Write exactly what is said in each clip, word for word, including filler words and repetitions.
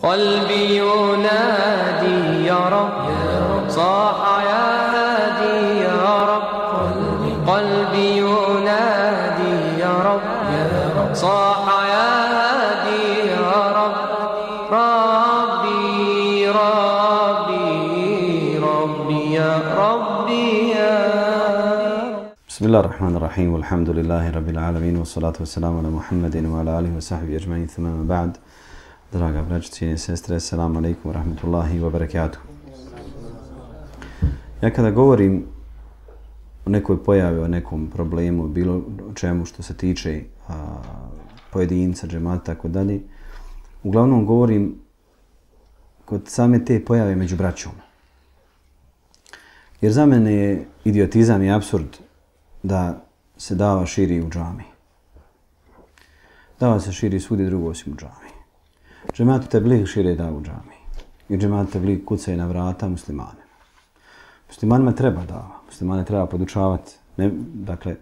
قلبي ينادي يا رب صاح يا هادي يا رب قلبي ينادي يا رب صاح يا هادي يا رب ربي ربي ربي يا ربي يا بسم الله الرحمن الرحيم والحمد لله رب العالمين والصلاة والسلام على محمد وعلى آله وصحبه أجمعين ثم ما بعد. Draga braćo, cijene sestre, assalamu alaikum wa rahmatullahi wa barakatuhu. Ja kada govorim o nekoj pojavi, o nekom problemu, bilo čemu što se tiče a, pojedinca, džemata, tako dalje, uglavnom govorim kod same te pojave među braćom. Jer za mene je idiotizam i apsurd da se dava širi u džami. Dava se širi svudi drugo osim u džami. Džematu tebligh šire da u džami. I džematu tebligh kucaju na vrata muslimanima. Muslimanima treba dava. Muslimane treba podučavati. Ne, dakle,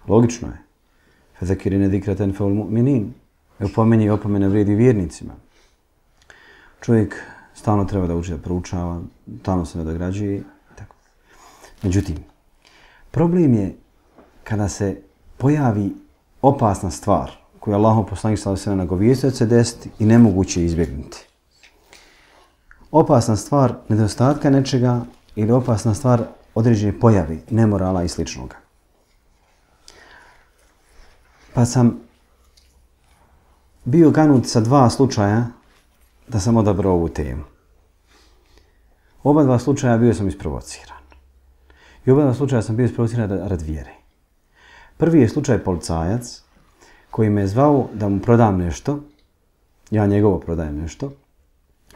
logično je. Fezekirine dikreten feul mu'minin. Opomenje i opomene vrijedi vjernicima. Čovjek stalno treba da uči da proučava, stalno se nadograđuje. Tako. Međutim, problem je kada se pojavi opasna stvar koju je Allahov poslanik sallallahu alejhi ve sellem nagovijestio da će se desiti i nemoguće izbjegnuti. Opasna stvar nedostatka nečega ili opasna stvar određene pojavi, nemorala i sličnoga. Pa sam bio ganut sa dva slučaja da sam odabrao ovu temu. Oba dva slučaja bio sam isprovociran. I oba dva slučaja sam bio isprovociran rad vjere. Prvi je slučaj policajac koji me je zvao da mu prodam nešto, ja njegovo prodajem nešto,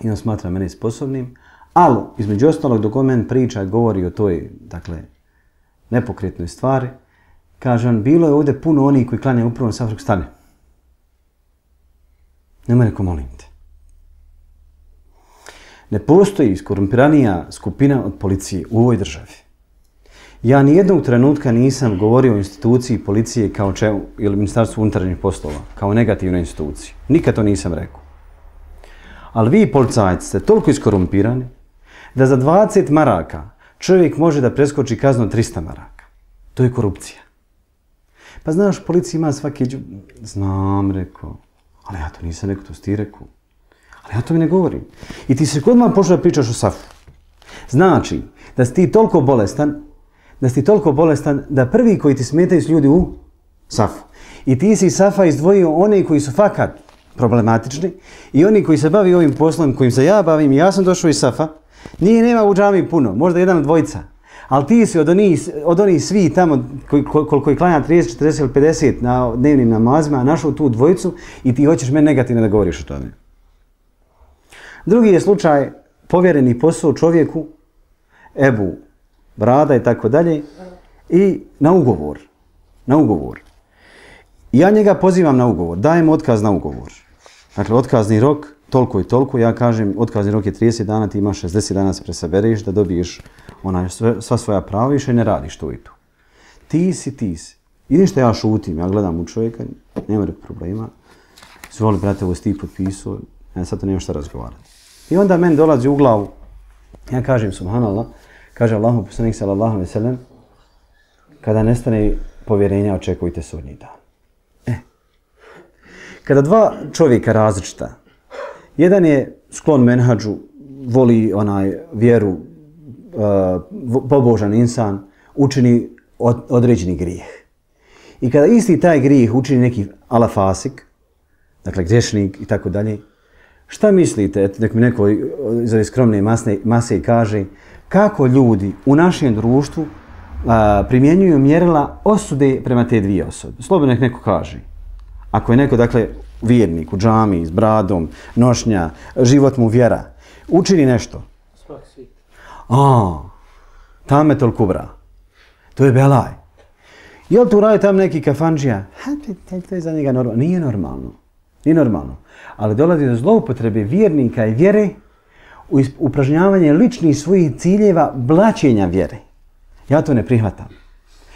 i on smatra mene sposobnim, ali između ostalog dok on meni priča, govori o toj, dakle, nepokretnoj stvari, kaže on, bilo je ovdje puno onih koji klanjaju upravo na Safrog stane. Nema neko, molim te. Ne postoji skorumpiranija skupina od policije u ovoj državi. Ja nijednog trenutka nisam govorio o instituciji policije kao čemu, ili Ministarstvu unutarnjih poslova, kao negativnoj instituciji. Nikad to nisam rekao. Ali vi, policajci, ste toliko iskorumpirani da za dvadeset maraka čovjek može da preskoči kaznu trista maraka. To je korupcija. Pa znaš, policija ima svaki... Znam, rekao. Ali ja to nisam rekao, to si ti rekao. Ali ja to mi ne govorim. I ti se kod man počeo da pričaš o Safu. Znači, da si ti toliko bolestan, da si ti toliko bolestan da prvi koji ti smetaju su ljudi u Safu. I ti si Safa izdvojio one koji su fakat problematični i oni koji se bavi ovim poslom kojim se ja bavim, ja sam došao iz Safa, nije nema u džami puno, možda jedan od dvojica, ali ti si od onih, od onih svi tamo koji, koliko je klanja trideset, četrdeset ili pedeset na dnevnim namazima, našao tu dvojicu i ti hoćeš meni negativno da govoriš o tome. Drugi je slučaj povjereni posao čovjeku, Ebu Brada i tako dalje, i na ugovor. Na ugovor. Ja njega pozivam na ugovor, dajem otkaz na ugovor. Dakle, otkazni rok, toliko i toliko, ja kažem, otkazni rok je trideset dana, ti imaš šezdeset dana se presabereš da dobiješ onaj, sve, sva svoja prava, više ne radiš to i to. Ti si, ti si. I ništa ja šutim, ja gledam u čovjeka, nema problema. Zvoli, brate, ovo si ti potpisao, ja sad to nema šta razgovarati. I onda meni dolazi u glavu, ja kažem, subhanallah, kaže Allahov poslanik sallallahu alejhi ve sellem, kada nestane povjerenja, očekujte sudnji dan. E. Kada dva čovjeka različita, jedan je sklon menhadžu, voli onaj vjeru, uh, pobožan insan, učini od, određeni grijeh. I kada isti taj grijeh učini neki alafasik, dakle griješnik i tako dalje, šta mislite, eto, nek mi neko iz ove skromne masne, mase kaže, kako ljudi u našem društvu a, primjenjuju mjerila osude prema te dvije osobe? Slobodno nek neko kaže. Ako je neko, dakle, vjernik u džami, s bradom, nošnja, život mu vjera, učini nešto. A, tametul kubra. To je belaj. Je li tu radi tam neki kafanđija? Ha, to je za njega normalno. Nije normalno. Nije normalno. Ali dolazi do zloupotrebe vjernika i vjere u upražnjavanje ličnih svojih ciljeva blaćenja vjere. Ja to ne prihvatam.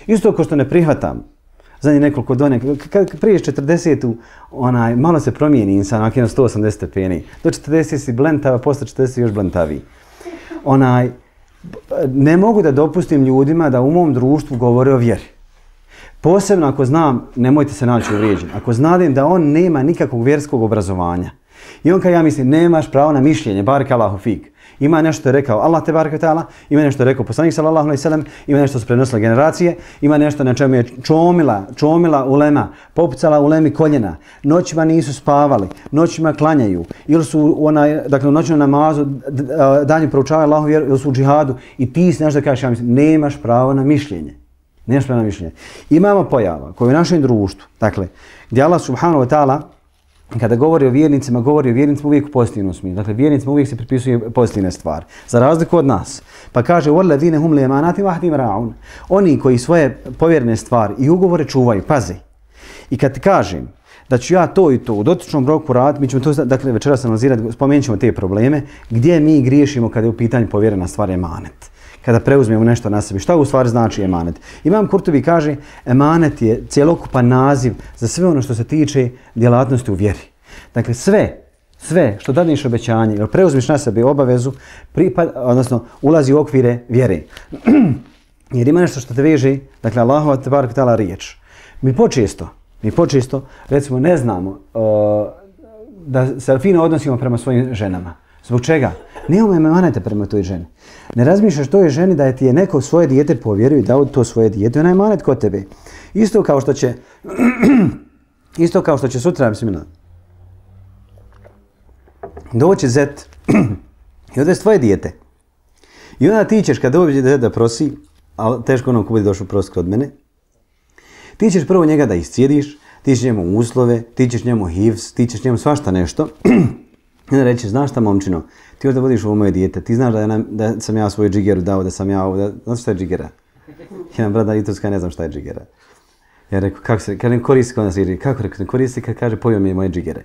Isto kao što ne prihvatam zadnje nekoliko done, kad prije četrdesetu onaj, malo se promijeni insan, ako je sto osamdeset stepeni. Do četrdeset si blentava, posle četrdeset još blentaviji. Onaj, ne mogu da dopustim ljudima da u mom društvu govore o vjeri. Posebno ako znam, nemojte se naći uvrijeđeni, ako znadim da on nema nikakvog vjerskog obrazovanja. I on kao ja mislim, nemaš pravo na mišljenje, barik Allahu fik. Ima nešto što je rekao Allah te barek ve taala, ima nešto što je rekao poslanik sallallahu alejhi ve sellem, ima nešto što su prenosile generacije, ima nešto na čemu je čomila, čomila ulema, popucala ulemi koljena, noćima nisu spavali, noćima klanjaju, ili su onaj, dakle u noćnom namazu danju proučavaju Allahu vjeru, ili su u džihadu i ti si nešto da kažeš, ja mislim, nemaš pravo na mišljenje. Nemaš pravo na mišljenje. Imamo pojava koje u našem društvu, dakle, gdje Allah subhanahu wa ta'ala kada govori o vjernicima, govori o vjernicima uvijek u pozitivnom smislu. Dakle, vjernicima uvijek se pripisuje pozitivne stvari. Za razliku od nas. Pa kaže, وَالَّذِينَ هُمْ لِيَمَانَاتِ وَحْدِمْ رَاعُونَ. Oni koji svoje povjerene stvari i ugovore čuvaju, pazi. I kad ti kažem da ću ja to i to u dotičnom roku raditi, mi ćemo to, dakle, večeras analizirati, spomenut ćemo te probleme, gdje mi griješimo kada je u pitanju povjerena stvar emanet. Kada preuzmemo nešto na sebi. Šta u stvari znači emanet? Imam Kurtubi kaže, emanet je cjelokupan naziv za sve ono što se tiče djelatnosti u vjeri. Dakle, sve, sve što dadneš obećanje ili preuzmiš na sebe obavezu, pripad, odnosno ulazi u okvire vjere. Jer ima nešto što te veže, dakle, Allahova te barek ta'ala riječ. Mi počesto, mi počesto, recimo, ne znamo uh, da se fino odnosimo prema svojim ženama. Zbog čega? Nemamo emanete prema toj ženi. Ne razmišljaš toj ženi da je ti je neko svoje dijete povjerio i dao to svoje dijete, ona je emanet kod tebe. Isto kao što će, isto kao što će sutra, bismillah, doći zet i odvesti tvoje dijete. I onda ti ćeš, kad dođe zet da prosi, ali teško ono ko bude došao prosi kod mene, ti ćeš prvo njega da iscijediš, ti ćeš njemu uslove, ti ćeš njemu hivs, ti ćeš njemu svašta nešto. I onda reći, znaš šta momčino, ti ovdje vodiš ovo moje dijete, ti znaš da, je, da sam ja svoju džigeru dao, da sam ja ovdje, znaš šta je džigera? Jedan brat na Iturska, ne znam šta je džigera. Ja rekao, kako se, kad ne koristi, kada se reći, kako rekao, ne koristi kad kaže pojio mi je moje džigere.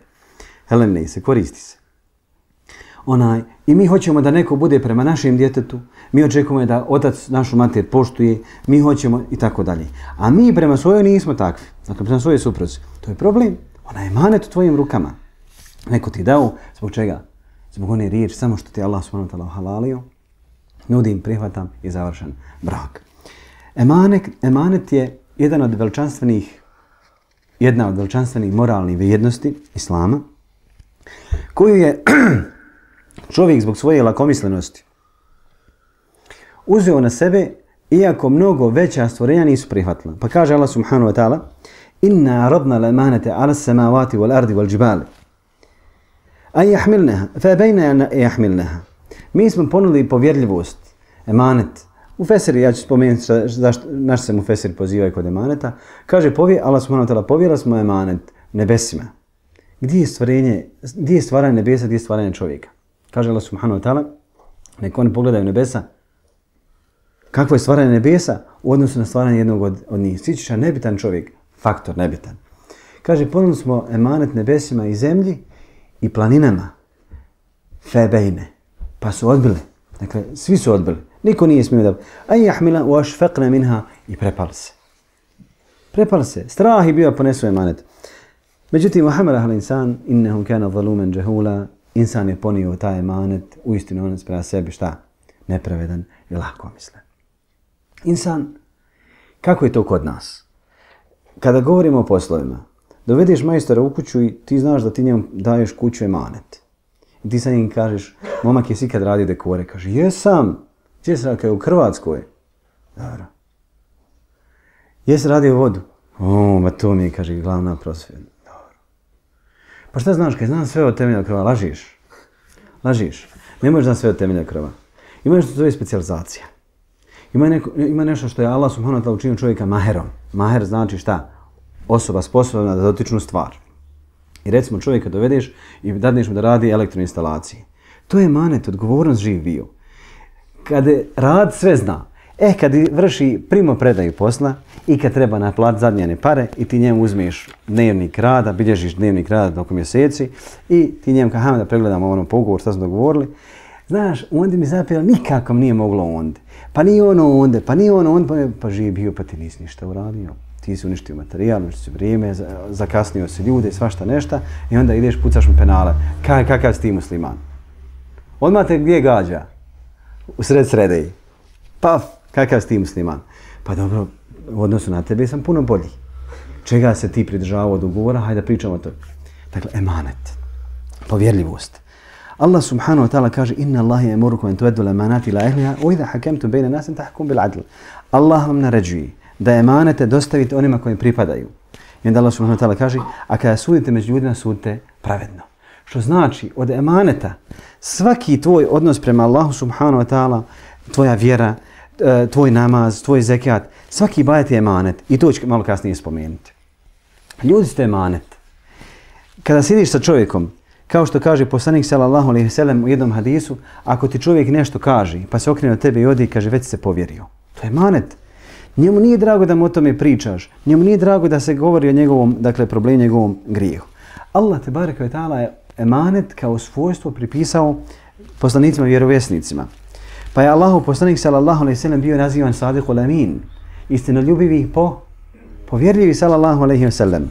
Helen ne se, koristi se. Onaj, i mi hoćemo da neko bude prema našem djetetu, mi očekujemo da otac našu mater poštuje, mi hoćemo i tako dalje. A mi prema svojoj nismo takvi, dakle prema svojoj supruzi. To je problem, ona je emanet u tvojim rukama. Neko ti dao, zbog čega? Zbog one riječi, samo što ti Allah subhanahu wa ta'ala halalio, nudim, prihvatam i završen brak. Emanet, emanet je jedan od veličanstvenih, jedna od veličanstvenih moralnih vrijednosti Islama, koju je čovjek zbog svoje lakomislenosti uzeo na sebe, iako mnogo veća stvorenja nisu prihvatila. Pa kaže Allah subhanahu wa ta'ala, inna radna l'emanete ala samavati wal ardi wal džibali. A jahmilneha, fe bejne jahmilneha. Mi smo ponudili povjerljivost, emanet. U Fesiri, ja ću spomenuti zašto naš se mu Fesir pozivaju kod emaneta. Kaže, povje, Allah subhanahu wa ta'ala, povjerili smo emanet nebesima. Gdje je stvarenje, gdje je stvaranje nebesa, gdje je stvaranje čovjeka? Kaže Allah subhanahu wa ta'ala, neka oni pogledaju nebesa. Kakvo je stvaranje nebesa u odnosu na stvaranje jednog od, od njih? Sićiša nebitan čovjek, faktor nebitan. Kaže, ponudili smo emanet nebesima i zemlji i planinama, febejne, pa su odbili. Dakle, svi su odbili. Niko nije smio da... A jahmila u ašfeqne minha i prepali se. Prepali se. Strah je bio ponesu emanet. Međutim, Muhammed al-insan, innehum kana zalumen džahula, insan je ponio taj emanet, uistinu on sprema sebi šta? Nepravedan i lako misle. Insan, kako je to kod nas? Kada govorimo o poslovima, dovedeš majstora u kuću i ti znaš da ti njemu daješ kuću emanet. I ti sa njim kažeš, momak je si kad radio dekore. Kaže, jesam. Gdje se radio? U Hrvatskoj. Dobro. Jesi radio vodu? O, ma to mi je, kaže, glavna prosvjeda. Dobro. Pa šta znaš? Kaj znam sve od temelja krova. Lažiš. Lažiš. Ne možeš znati sve od temelja krova. Ima nešto što zove specijalizacija. Ima, neko, ima nešto što je Allah subhanahu wa ta'ala učinio čovjeka maherom. Maher znači šta? Osoba sposobna za dotičnu stvar. I recimo čovjeka dovedeš i dadneš mu da radi elektroinstalacije. To je emanet, odgovornost živ bio. Kad rad sve zna, e kad vrši primopredaju posla i kad treba naplatiti zadnjene pare i ti njemu uzmeš dnevnik rada, bilježiš dnevnik rada tokom mjeseci i ti njemu kao da pregledamo ono po ugovor što smo dogovorili, znaš, onda mi zapijelo nikako nije moglo onda. Pa nije ono onda, pa nije ono onda, pa, pa živ bio, pa ti nisi ništa uradio. Ti si uništio materijal, uništio si vrijeme, zakasnio si ljude i svašta nešta i onda ideš pucaš mu penale. Kaj, kakav si ti musliman? Odmah te gdje gađa? U sred sredeji. Paf, kakav si ti musliman? Pa dobro, u odnosu na tebe sam puno bolji. Čega se ti pridržavao od ugovora? Hajde da pričamo o to. Dakle, emanet. Povjerljivost. Allah subhanahu wa ta'ala kaže inna Allahi yamurukum an tu'addu al-amanati ila ahliha wa idha hakamtum bayna an-nasi an tahkumu bil 'adl. Allah vam naređuje da emanete dostavite onima koji pripadaju. I onda Allah subhanahu wa ta'ala kaže a kada sudite među ljudima sudite pravedno. Što znači od emaneta svaki tvoj odnos prema Allahu subhanahu wa ta'ala, tvoja vjera, tvoj namaz, tvoj zekat, svaki ibadet je emanet i to ću malo kasnije spomenuti. Ljudi ste emanet. Kada sjediš sa čovjekom, kao što kaže poslanik sallallahu alejhi ve sellem u jednom hadisu, ako ti čovjek nešto kaže, pa se okrene od tebe i odi i kaže već se povjerio. To je emanet. Njemu nije drago da mu o tome pričaš. Njemu nije drago da se govori o njegovom, dakle, problemu, njegovom grijehu. Allah te bareke ve taala je emanet kao svojstvo pripisao poslanicima i vjerovjesnicima. Pa je Allahov poslanik sallallahu alejhi ve sellem bio nazivan sadiqul amin, istinoljubivi po povjerljivi sallallahu alejhi ve sellem.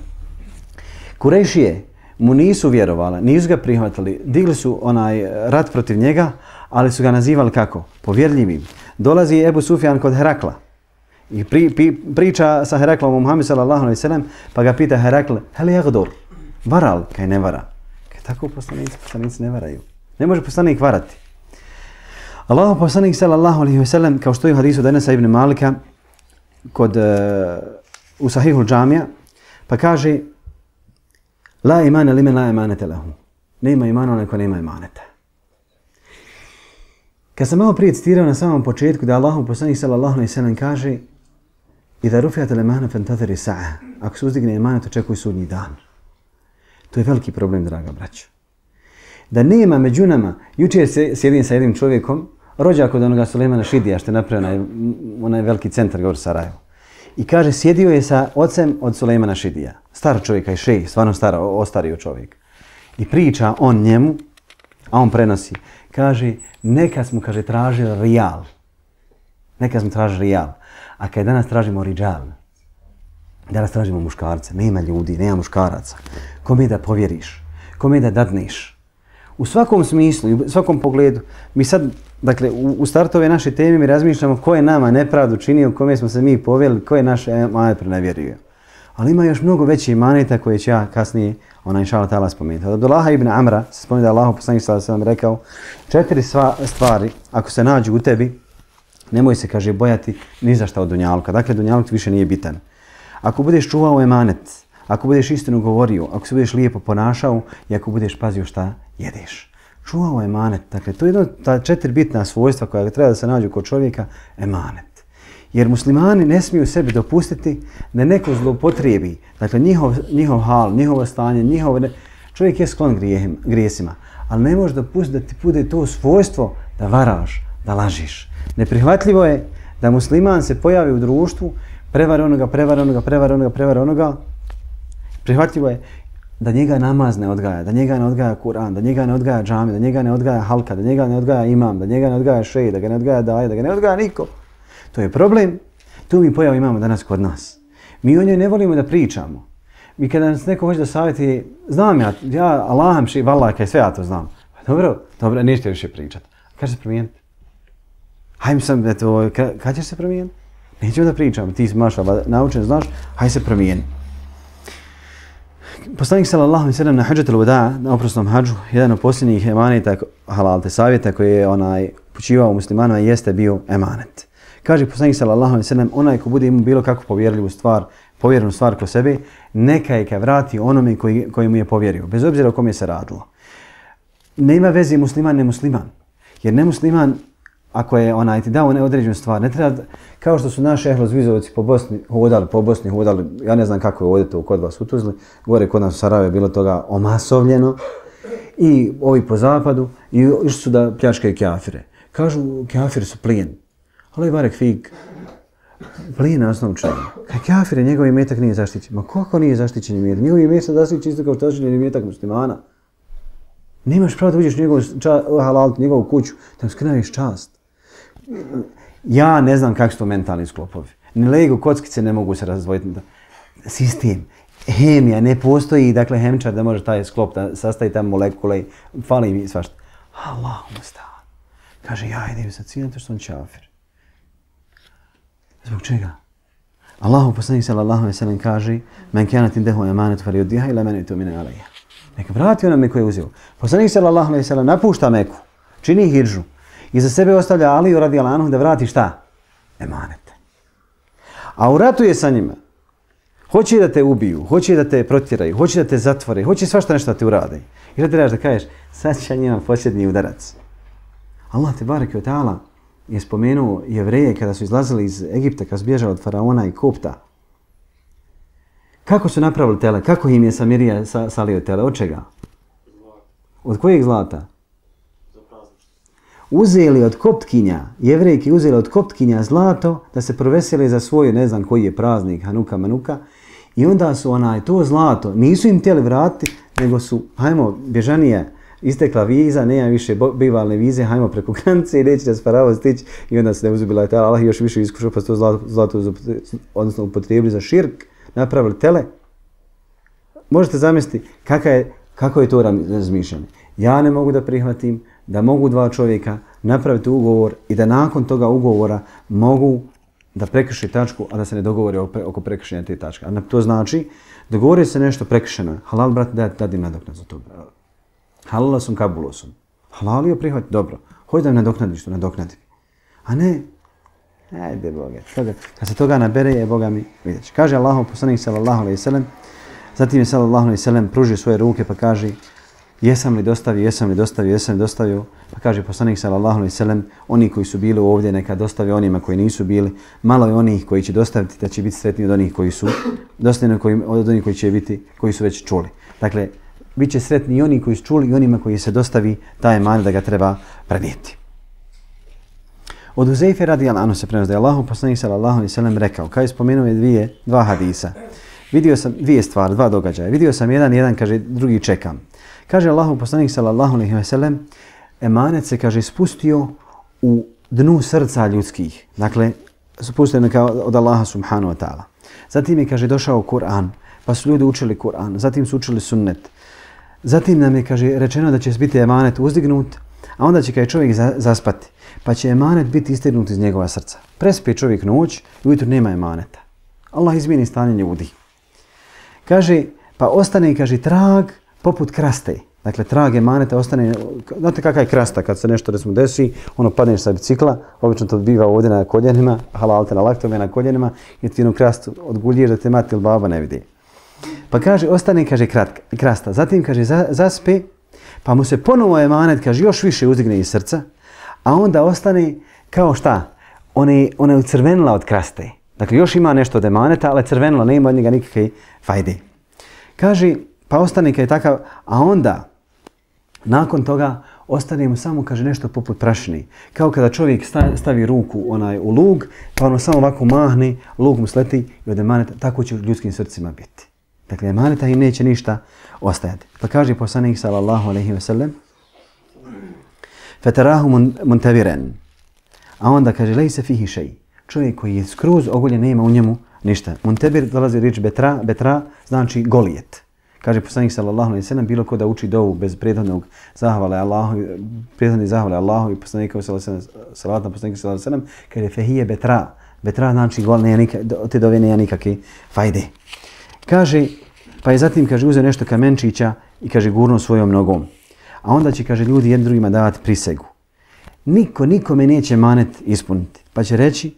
Kurejšije mu nisu vjerovali, nisu ga prihvatili, digli su onaj rat protiv njega, ali su ga nazivali kako? Povjerljivim. Dolazi Ebu Sufjan kod Herakla i pri, pri, priča sa Heraklom o Muhammedu sallallahu alejhi ve sellem, pa ga pita Herakl, hel yagdur? Varal? Kaj ne vara? Kaj tako poslanici, poslanici ne varaju. Ne može poslanik varati. Allahov poslanik sallallahu alejhi ve sellem, kao što je u hadisu Enesa ibn Malika kod uh, u Sahihul Džamija, pa kaže la imana limen la imanete lahu. Nema imana onaj ko nema imaneta. Kad sam malo prije citirao na samom početku da Allahov poslanik sallallahu alejhi ve sellem kaže idha rufi'at al-imana fantaziri sa'a. Ako se uzdigne imanet, očekuj sudnji dan. To je veliki problem, draga braćo. Da nema među nama, jučer se sjedim sa jednim čovjekom, rođak od onoga Sulejmana Šidija, što je napravio onaj, onaj veliki centar govor Sarajevo. I kaže, sjedio je sa ocem od Sulejmana Šidija. Star čovjeka i šej, stvarno stara, ostario čovjek. I priča on njemu, a on prenosi. Kaže, nekad smo, kaže, tražili rijal. Nekad smo tražili rijal. A kad danas tražimo riđal, danas tražimo muškarce. Nema ljudi, nema muškaraca. Kome da povjeriš? Kome da dadneš? U svakom smislu i u svakom pogledu, mi sad, dakle, u, u startu ove naše teme mi razmišljamo ko je nama nepravdu činio, kome smo se mi povjeli, ko je naš emanet prenevjerio. Ali ima još mnogo veći emaneta koje će ja kasnije, ona inša Allah ta'ala spomenuti. Od Abdullaha ibn Amra se spomenu da Allahu poslanik sallallahu alejhi ve sellem rekao, četiri sva, stvari, ako se nađu u tebi, nemoj se, kaže, bojati ni za šta od dunjaluka. Dakle, dunjaluk više nije bitan. Ako budeš čuvao emanet, ako budeš istinu govorio, ako se budeš lijepo ponašao i ako budeš pazio šta jedeš. Čuvao emanet. Dakle, to je jedno ta četiri bitna svojstva koja treba da se nađu kod čovjeka, emanet. Jer muslimani ne smiju sebi dopustiti da neko zloupotrijebi, dakle, njihov, njihov hal, njihovo stanje, njihov... Čovjek je sklon grijem, grijesima, ali ne može dopustiti da ti bude to svojstvo da varaš, da lažiš. Neprihvatljivo je da musliman se pojavi u društvu, prevari onoga, prevari onoga, prevari onoga, prevari onoga. Prihvatljivo je da njega namaz ne odgaja, da njega ne odgaja Kur'an, da njega ne odgaja džami, da njega ne odgaja halka, da njega ne odgaja imam, da njega ne odgaja šej, da ga ne odgaja daje, da ga ne odgaja niko. To je problem. Tu mi pojavu imamo danas kod nas. Mi o njoj ne volimo da pričamo. Mi kada nas neko hoće da savjeti, znam ja, ja Allaham ši, vallah, kaj sve ja to znam. Dobro, dobro, nećete više pričati. Kad će se promijeniti? Hajde sam, eto, kad ćeš se promijeniti? Nećemo da pričamo, ti si mašala, naučen, znaš, hajde se promijeni. Poslanik sallallahu alejhi ve sellem na Hadžatul Wada, na oprosnom hadžu, jedan od posljednjih emaneta halal te savjeta koji je onaj upućivao muslimanima jeste bio emanet. Kaže poslanik sallallahu alejhi ve sellem, onaj ko bude imao bilo kakvu povjerljivu stvar, povjerenu stvar kod sebe, neka je ka vrati onome koji, koji mu je povjerio, bez obzira o kom je se radilo. Nema veze musliman, ne musliman. Jer ne musliman, ako je onaj ti dao neodređenu stvar, ne treba, kao što su naši ehlozvizovci po Bosni hodali, po Bosni hodali, ja ne znam kako je ovdje to kod vas u Tuzli, gore kod nas u Sarajevo je bilo toga omasovljeno, i ovi po zapadu, i išli su da pljačkaju kafire. Kažu, kafiri su plijen. Ali varek fig, plijen na osnovu čega. Kaj kafire, njegov imetak nije zaštićen. Ma kako nije zaštićen imetak? Njegov imetak zaštićen isto kao što zaštićen imetak muslimana. Nemaš pravo da uđeš u njegovu, halal, njegovu kuću, da mu skrnaviš čast. Ja ne znam kakvi su to mentalni sklopovi. Ni lego, kockice ne mogu se razdvojiti. sistem, hemija, ne postoji, dakle, hemčar da može taj sklop da sastavi tamo molekule, fali mi svašta. Allahumma sta'an. Kaže, ja idem sa ciljem to što on čafir. Zbog čega? Allahu poslanik sallallahu alejhi ve sellem kaže: "Men kanat indahu amanatu falyuddiha ila man yu'minu alayha." Neka vrati onome koji je uzeo. Poslanik sallallahu alejhi ve sellem napušta Meku, čini hidžu i za sebe ostavlja Aliju radijallahu anhu da vrati šta? Emanete. A u ratu je sa njima. Hoće da te ubiju, hoće da te protjeraju, hoće da te zatvore, hoće svašta nešto da te urade. I da trebaš da kažeš, sad će njima posljednji udarac. Allah te bareke ve ta'ala je spomenuo Jevreje kada su izlazili iz Egipta, kada su bježali od faraona i Kopta. Kako su napravili tele? Kako im je Samirija salio tele? Od čega? Od kojeg zlata? Uzeli od Koptkinja, Jevrejki uzeli od Koptkinja zlato da se proveseli za svoj, ne znam koji je praznik, Hanuka, Manuka. I onda su onaj, to zlato, nisu im htjeli vratiti, nego su, hajmo, bježanije, istekla viza, nema više bivalne vize, hajmo preko granice i neće da se Farao stići. I onda se ne uzubila je Allah još više iskušao, pa su to zlato, zlato odnosno upotrijebili za širk, napravili tele. Možete zamisliti kaka je, kako je to razmišljanje. Ja ne mogu da prihvatim da mogu dva čovjeka napraviti ugovor i da nakon toga ugovora mogu da prekrši tačku, a da se ne dogovori oko prekršenja te tačke. A to znači, dogovori se nešto prekršeno. Halal, brate, da dadim nadoknad za to. Halala sam, kabulo sam. Halalio prihvati, dobro. Hoći da mi nadoknadiš to, nadoknadi. A ne, ajde Boga. Kad se toga nabere, je Boga mi vidjet će. Kaže Allahov poslanik sallallahu alejhi ve sellem, zatim je sallallahu alejhi ve sellem pružio svoje ruke pa kaže: "Jesam li dostavio, jesam li dostavio, jesam li dostavio?" Pa kaže poslanik sallallahu alejhi ve sellem: "Oni koji su bili ovdje neka dostave onima koji nisu bili. Malo je onih koji će dostaviti da će biti sretni od onih koji su dostavljeni od onih koji će biti koji su već čuli." Dakle, bit će sretni i oni koji su čuli i onima koji se dostavi taj emanet da ga treba prenijeti. Od Huzeife radijallahu anhu se prenosi da je Allahov poslanik sallallahu alejhi ve sellem rekao, kao je spomenuo je dvije, dva hadisa. Vidio sam dvije stvari, dva događaja. Vidio sam jedan, jedan kaže, drugi čekam. Kaže Allahov poslanik sallallahu alejhi ve sellem, emanet se, kaže, spustio u dnu srca ljudskih. Dakle, spustio je od Allaha subhanahu wa ta'ala. Zatim je, kaže, došao Kur'an, pa su ljudi učili Kur'an, zatim su učili sunnet. Zatim nam je, kaže, rečeno da će biti emanet uzdignut, a onda će, kaže, čovjek zaspati, pa će emanet biti istignut iz njegova srca. Prespije čovjek noć i ujutro nema emaneta. Allah izmijeni stanje ljudi. Kaže, pa ostane, kaže, trag poput kraste. Dakle, trag emaneta ostane, znate kakva je krasta kad se nešto recimo desi, ono padneš sa bicikla, obično to biva ovdje na koljenima, halalte na laktove na koljenima, i ti jednu krastu odgulješ da te mati ili baba ne vidi. Pa kaže, ostane, kaže, kratka, krasta. Zatim, kaže, zaspe, pa mu se ponovo emanet, kaže, još više uzdigne iz srca, a onda ostane kao šta? Ona je, ona je ucrvenila od kraste. Dakle, još ima nešto od emaneta, ali crvenila, nema od njega nikakve fajde. Kaže, pa ostane kad je takav, a onda, nakon toga, ostane mu samo, kaže, nešto poput prašine. Kao kada čovjek stavi ruku onaj u lug, pa ono samo ovako mahne, lug mu sleti i od emaneta, tako će u ljudskim srcima biti. Dakle, emaneta im neće ništa ostajati. Pa kaže poslanik sallallahu alejhi ve sellem, "Fatarahu muntaviran." A onda kaže, "Lejse fihi šej." Čovjek koji je skroz ogoljen, nema u njemu ništa. Muntebir dolazi riječ betra, betra znači golijet. Kaže poslanik sallallahu alejhi ve sellem, bilo ko da uči dovu bez prethodnog zahvale Allahu, prethodne zahvale Allahu i poslanika sallallahu alejhi ve sellem, salat na poslanika sallallahu alejhi ve sellem, kaže fehije betra. Betra znači gol, ne te dove nema nikakve fajde. Kaže, pa je zatim, kaže, uzeo nešto kamenčića i, kaže, gurnuo svojom nogom. A onda će, kaže, ljudi jednim drugima davati prisegu. Niko, nikome neće emanet ispuniti. Pa će reći,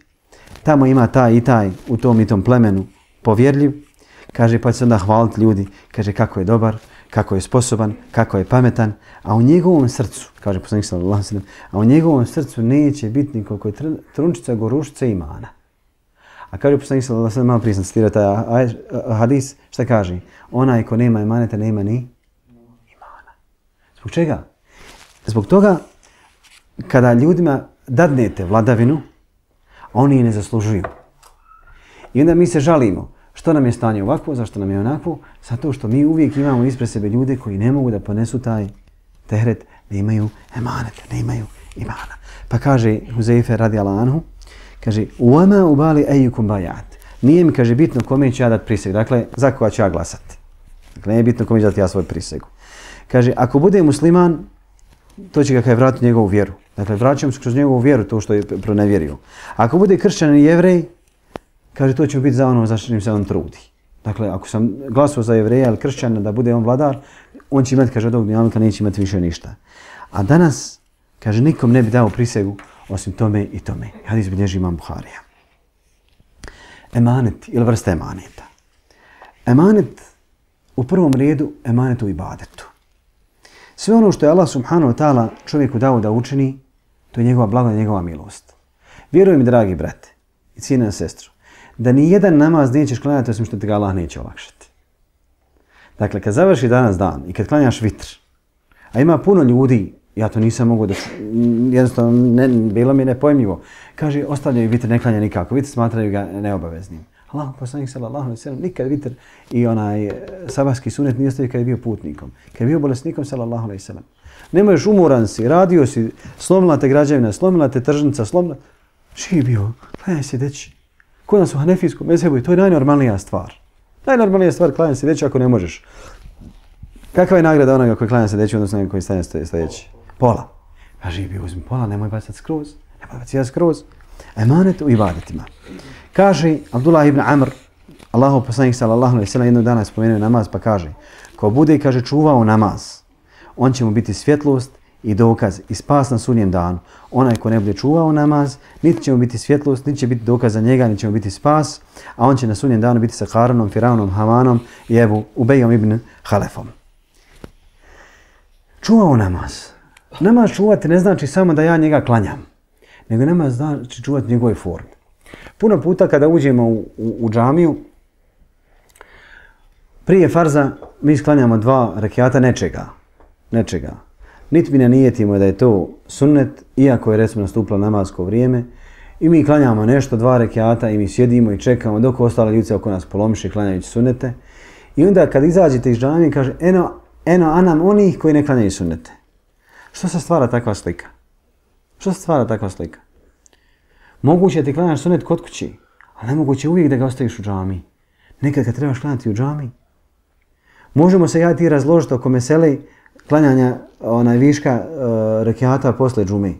tamo ima taj i taj u tom i tom plemenu povjerljiv. Kaže, pa će se onda hvaliti ljudi. Kaže, kako je dobar, kako je sposoban, kako je pametan. A u njegovom srcu, kaže poslanik sallallahu alejhi ve sellem, a u njegovom srcu neće biti nikoliko je trunčica gorušice imana. A kaže poslanik sallallahu alejhi ve sellem, malo prije sam citirao taj hadis, šta kaže? Onaj ko nema emaneta, nema ni imana. Zbog čega? Zbog toga, kada ljudima dadnete vladavinu, oni je ne zaslužuju. I onda mi se žalimo. Što nam je stanje ovako, zašto nam je onako? Zato što mi uvijek imamo ispred sebe ljude koji ne mogu da ponesu taj teret, ne imaju emaneta, ne imaju imana. Pa kaže Huzeife radijallahu anhu, kaže, "Uama ubali ejukum bajat." nije mi, kaže, bitno kome ću ja dati prisegu. Dakle, za koga ću ja glasati. Dakle, nije bitno kome ću dati ja svoj prisegu. Kaže, ako bude musliman, to će ga kaj vratiti njegovu vjeru. Dakle, vraćamo se kroz njegovu vjeru to što je pronevjerio. Ako bude kršćanin i jevrej, kaže, to će biti za ono za što se on trudi. Dakle, ako sam glasao za jevreja ili kršćana da bude on vladar, on će imati, kaže, od ovog dunjaluka neće imati više ništa. A danas, kaže, nikom ne bi dao prisegu osim tome i tome. Hadis bilježi imam Buharija. Emanet ili vrsta emaneta. Emanet u prvom redu emanet u ibadetu. Sve ono što je Allah subhanahu wa ta'ala čovjeku dao da učini, to je njegova blagodat, njegova milost. Vjeruj mi, dragi brate i cijena sestro, da ni jedan namaz nećeš klanjati osim što ti ga Allah neće olakšati. Dakle, kad završi danas dan i kad klanjaš vitr, a ima puno ljudi, ja to nisam mogu da, jednostavno ne, bilo mi nepojmljivo, kaže, ostavljaju vitr, ne klanja nikako, vitr smatraju ga neobaveznim. Allah poslanik sallallahu alejhi ve sellem nikad vitr i onaj sabahski sunet nije ostavio kad je bio putnikom. Kad je bio bolesnikom sallallahu alejhi ve sellem. Ne možeš, umoran si, radio si, slomila te građevina, slomila te tržnica, slomila... Živi bio, klanjaj se deći. Kod nas u hanefijskom mezhebu to je najnormalnija stvar. Najnormalnija stvar klanjaj se deći ako ne možeš. Kakva je nagrada onoga koji klanja se deći odnosno onoga koji stane sljedeći? Pola. A živi bio, uzmi pola, nemoj bacati skroz. Nemoj bacati skroz. Emanet u ibadetima. Kaže Abdullah ibn Amr, Allahov poslanik sallallahu alejhi ve sellem jednog dana spomenuo namaz pa kaže: ko bude, kaže, čuvao namaz, on će mu biti svjetlost i dokaz i spas na sudnjem danu. Onaj ko ne bude čuvao namaz, niti će mu biti svjetlost, niti će biti dokaz za njega, niti će mu biti spas, a on će na sudnjem danu biti sa Karunom, Firaunom, Hamanom i Ebu Ubejom ibn Halefom. Čuvao namaz. Namaz čuvati ne znači samo da ja njega klanjam, nego namaz znači čuvati njegove forme. Puno puta kada uđemo u, u, u džamiju, prije farza mi sklanjamo dva rekiata nečega. Nečega. Niti mi ne nijetimo da je to sunnet, iako je recimo nastupilo namazsko vrijeme, i mi klanjamo nešto, dva rekiata, i mi sjedimo i čekamo dok ostale ljudi oko nas polomiše klanjajući sunnete. I onda kad izađete iz džamije kaže eno, eno anam onih koji ne klanjaju sunnete. Što se stvara takva slika? Što se stvara takva slika? Moguće je ti klanjaš sunnet kod kući, ali nemoguće uvijek da ga ostaviš u džamiji. Nekad kad trebaš klanjati u džamiji. Možemo se ja i ti razložiti oko mesele klanjanja onaj viška uh, rekiata posle džume. Je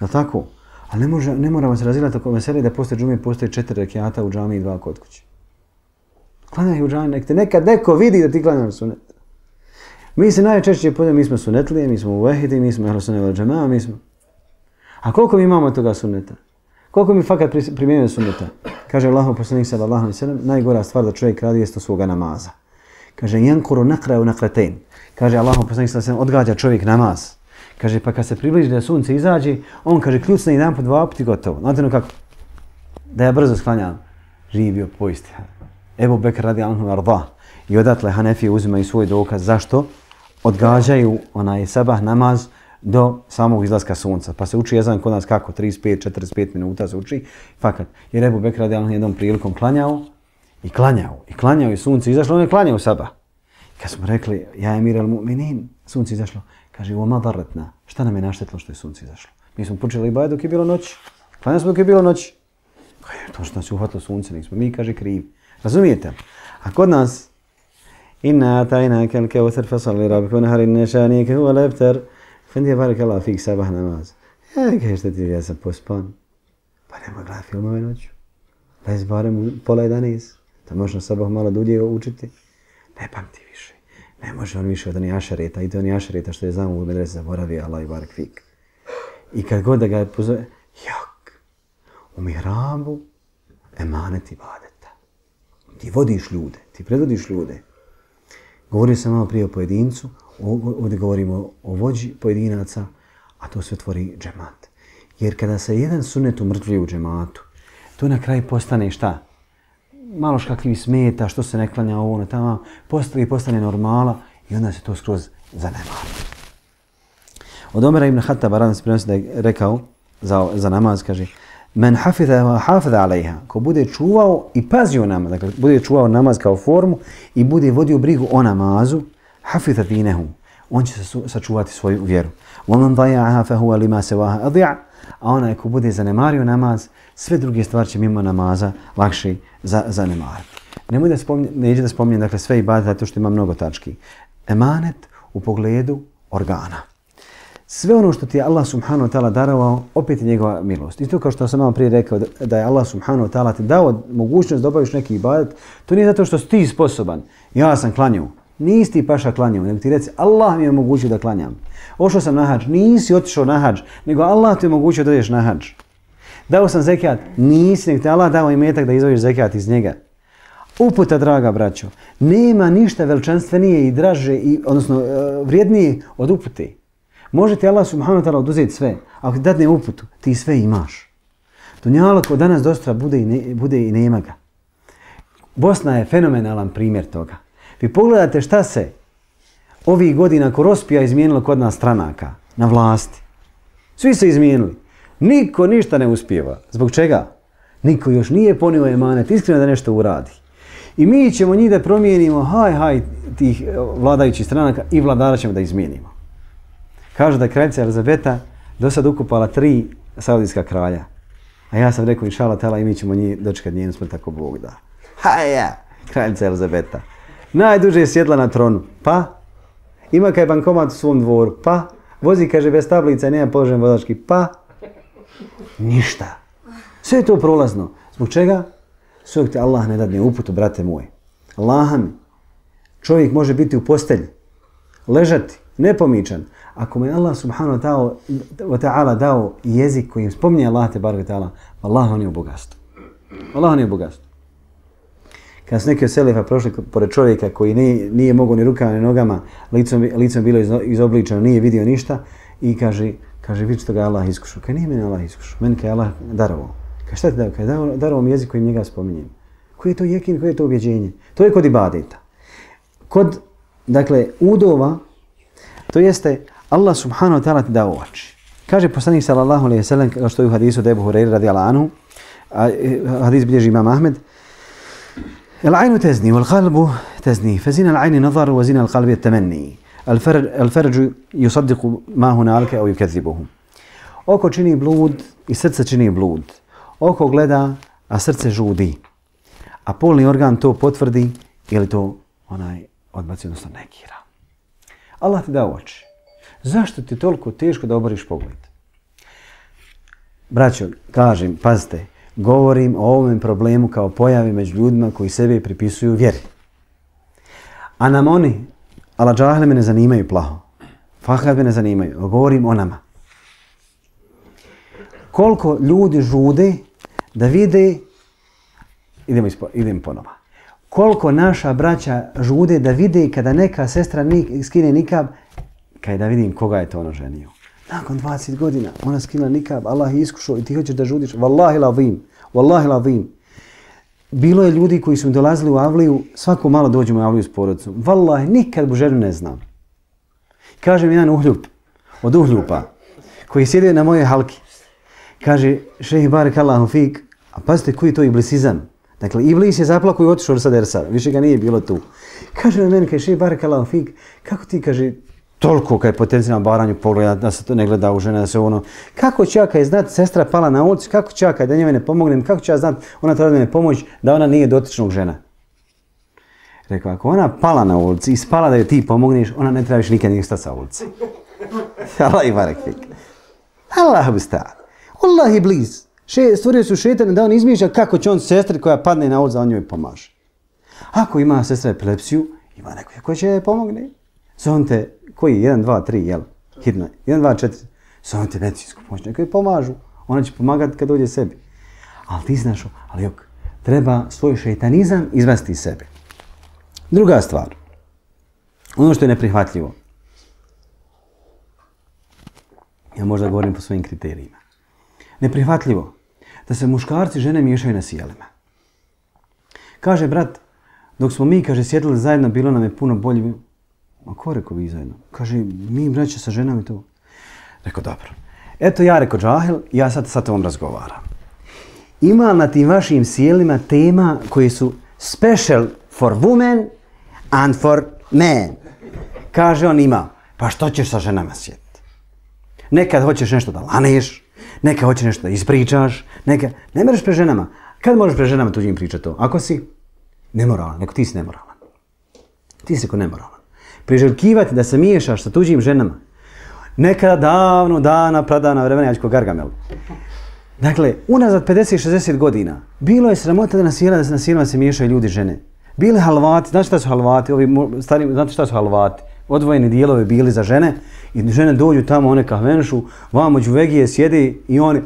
li tako? Ali ne, može, ne moramo se razilati oko mesele da posle džume postoji četiri rekiata u džamiji i dva kod kući. Klanjaj u džamiji, nek te nekad neko vidi da ti klanjaš sunnet. Mi se najčešće podijemo, mi smo sunnetlije, mi smo uvehidi, mi smo ehlu sunnet vel džemaa, mi smo... A koliko mi imamo toga sunneta? Koliko mi fakat primjenjuje sunneta? Kaže Allahov poslanik sallallahu alejhi ve sellem, najgora stvar da čovjek radi jest svoga namaza. Kaže yankuru naqra naqratain. Kaže Allahov poslanik sallallahu alejhi ve sellem, odgađa čovjek namaz. Kaže pa kad se približi da sunce izađe, on kaže kljucne jedan po dva puta gotovo. Znate no kako? Da ja brzo sklanjam. Živi bio poisti. Ebu Bekr radijallahu anhu arda. I odatle Hanefije uzimaju svoj dokaz zašto odgađaju onaj sabah namaz do samog izlaska sunca. Pa se uči ezan kod nas kako? trideset pet do četrdeset pet minuta se uči. Fakat. Jer Ebu Bekr radijallahu anhu jednom prilikom klanjao i klanjao. I klanjao i sunce izašlo, on je klanjao sabah. Kad smo rekli, ja emir al mu'minin, sunce izašlo. Kaže, oma daretna, šta nam je naštetilo što je sunce izašlo? Mi smo počeli ibad dok je bilo noć. Klanjali smo dok je bilo noć. Kaže, to što nas je uhvatilo sunce, nismo mi, kaže, krivi. Razumijete? A kod nas, inna atajna kel keuthar fasalli rabbika wanhar inna shaniyaka huwa al-abtar. Fendi barakallahu fik sabah namaz. Ja, kaže, šta ti, ja sam pospan. Pa nemoj gledati filmove noću. Lez barem pola jedanaest. Da možeš na sabah malo dulje učiti. Ne pamti više. Ne može on više od onih ašareta. I to onih ašareta što je znamo u medrese zaboravio, Allah i barak fik. I kad god da ga je pozove, jok, u mihrabu emanet ibadeta. Ti vodiš ljude, ti predvodiš ljude. Govorio sam malo prije o pojedincu, ovdje govorimo o vođi pojedinaca, a to se otvori džemat. Jer kada se jedan sunnet umrtvuje u džematu, to na kraju postane šta? Malo škakljivi smeta, što se ne klanja ovo na tamo, postavi, postane normala i onda se to skroz zanemari. Od Omera ibn Khattaba radi se prenosi da je rekao za, za namaz, kaže men hafidha wa hafidha alejha, ko bude čuvao i pazio namaz, dakle bude čuvao namaz kao formu i bude vodio brigu o namazu, hafidha dinehu, on će sačuvati svoju vjeru. Wa man daya'aha fa huwa lima sawaha adhi'a, a onaj ko bude zanemario namaz, sve druge stvari će mimo namaza lakše za, zanemariti. Nemoj da spominje, neće da spominjem dakle, sve ibadete zato što ima mnogo tački. Emanet u pogledu organa. Sve ono što ti je Allah subhanahu wa ta'ala darovao, opet je njegova milost. I to kao što sam malo prije rekao, da je Allah subhanahu wa ta'ala ti dao mogućnost da obaviš neki ibadet, to nije zato što si ti sposoban. Ja sam klanjao. Nisi ti paša klanjao, nego ti reci Allah mi je omogućio da klanjam. Ošao sam na hadž, nisi otišao na hadž, nego Allah ti je omogućio da ideš na hadž. Dao sam zekat, nisi, nego ti Allah dao imetak da izvojiš zekat iz njega. Uputa, draga braćo, nema ništa veličanstvenije i draže, i, odnosno vrijednije od upute. Može ti Allah subhanahu wa ta'ala oduzeti sve. Ako ti dadne uputu, ti sve imaš. Dunjaluk od danas do sutra bude i, ne, bude i nema ga. Bosna je fenomenalan primjer toga. Vi pogledate šta se ovih godina ko Rospija izmijenilo kod nas stranaka na vlasti. Svi se izmijenili. Niko ništa ne uspijeva. Zbog čega? Niko još nije ponio emanet iskreno da nešto uradi. I mi ćemo njih da promijenimo, haj, haj, tih vladajućih stranaka i vladara ćemo da izmijenimo. Kažu da je kraljica Elizabeta do sad ukupala tri saudijska kralja. A ja sam rekao, inšala tela, i mi ćemo njih dočekati njenu smrt ako Bog da. Haja, kraljica Elizabeta. Najduže je sjedla na tronu. Pa? Ima kaj bankomat u svom dvoru. Pa? Vozi, kaže, bez tablica i nema položen vozački. Pa? Ništa. Sve je to prolazno. Zbog čega? Sve ti Allah ne dadne uputu, brate moji. Allah mi. Čovjek može biti u postelji. Ležati. Nepomičan. Ako mu je Allah subhanahu wa ta'ala dao jezik kojim spominje Allah te barek ta'ala, Allah on je u bogatstvu. Allah on je u bogatstvu. Kad su neki od selefa prošli pored čovjeka koji nije, nije mogao ni rukama ni nogama, licom, licom bilo izobličeno, nije vidio ništa i kaže, kaže vidi što ga Allah iskušao. Kaj nije meni Allah iskušao, meni kaj Allah darovao. Kaj šta ti dao? Kaj je darovao mi jezik kojim njega spominjem. Koji je to jekin, koji je to ubjeđenje? To je kod ibadeta. Kod, dakle, udova, to jeste Allah subhanahu wa ta'ala ti dao oči. Kaže poslanik sallallahu alejhi ve sellem, kao što je u hadisu od Ebu Hurajre radijallahu anhu, hadis bilježi Imam Ahmed, العين تزني والقلب تزني فزين العين نظر وزين القلب التمني الفرج, الفرج يصدق ما هنالك أو يكذبه. Oko čini blud i srce čini blud. Oko gleda, a srce žudi. A polni organ to potvrdi ili to onaj odbaci, odnosno negira. Allah ti dao oči. Zašto ti toliko teško da oboriš pogled? Braćo, kažem, pazite, govorim o ovom problemu kao pojavi među ljudima koji sebe pripisuju vjeri. A nam oni, ala džahle me ne zanimaju plaho. Fakat me ne zanimaju. Govorim o nama. Koliko ljudi žude da vide, idemo, ispo, idemo ponova. Koliko naša braća žude da vide kada neka sestra skine nikab, kaj da vidim koga je to ono ženio. Nakon dvadeset godina ona skina nikab, Allah je iskušao i ti hoćeš da žudiš. Wallahi l'azim, wallahi l'azim. Bilo je ljudi koji su mi dolazili u avliju, svako malo dođemo u avliju s porodicom. Wallahi, nikad bu ženu ne znam. Kaže mi jedan uhljup, od uhljupa, koji sjede na moje halki. Kaže, šehi barek Allahu fik, a pazite koji je to iblisizam. Dakle, iblis je zaplako i otišao sa dersa, više ga nije bilo tu. Kaže na meni, kaže, šehi barek Allahu fik, kako ti, kaže, toliko kaj potencijalno baranju pogleda, da se to ne gleda u žene, da se ono... Kako će ja kaj znat, sestra pala na ulicu, kako će ja kaj da njoj ne pomognem, kako će ja znat, ona treba da me pomoć, da ona nije dotičnog žena. Rekao, ako ona pala na ulici i spala da joj ti pomogneš, ona ne treba više nikad nije stati sa ulici. Allah i barek fik. Allah bi stao. Allah je bliz. Še, stvorio su šetane da on izmišlja kako će on sestri koja padne na ulicu, da on njoj pomaže. Ako ima sestra epilepsiju, ima neko ko će je pomogne. Zovite, koji? jedan, dva, tri, jel? Hitno. jedan, dva, četiri. Zovite medicinsku pomoć. Neko je pomažu. Ona će pomagati kad dođe sebi. Ali ti znaš, ali jok, treba svoj šeitanizam izvesti iz sebe. Druga stvar. Ono što je neprihvatljivo. Ja možda govorim po svojim kriterijima. Neprihvatljivo da se muškarci i žene miješaju na sjelima. Kaže brat, dok smo mi, kaže, sjedili zajedno, bilo nam je puno bolje. Ma ko rekao vi zajedno? Kaže, mi braća sa ženama i to. Rekao, dobro. Eto ja rekao džahil, ja sad sa tom razgovaram. Ima na tim vašim sjelima tema koji su special for women and for men. Kaže on ima, pa što ćeš sa ženama sjediti? Nekad hoćeš nešto da laneš, neka hoće nešto da ispričaš, neka, ne mereš pre ženama. Kad možeš pre ženama tuđim pričati to? Ako si nemoralan, neko ti si nemoralan. Ti si ko nemoralan. Priželjkivati da se miješaš sa tuđim ženama. Nekada davno, dana, pradana vremena, ja ću ko Gargamel. Dakle, unazad pedeset šezdeset godina, bilo je sramota da na sjela, da se na sjelima se miješaju ljudi žene. Bili halvati, znate šta su halvati? Ovi stari, znate šta su halvati? Odvojeni dijelovi bili za žene i žene dođu tamo, one kahvenšu, vamo đuvegije sjedi i oni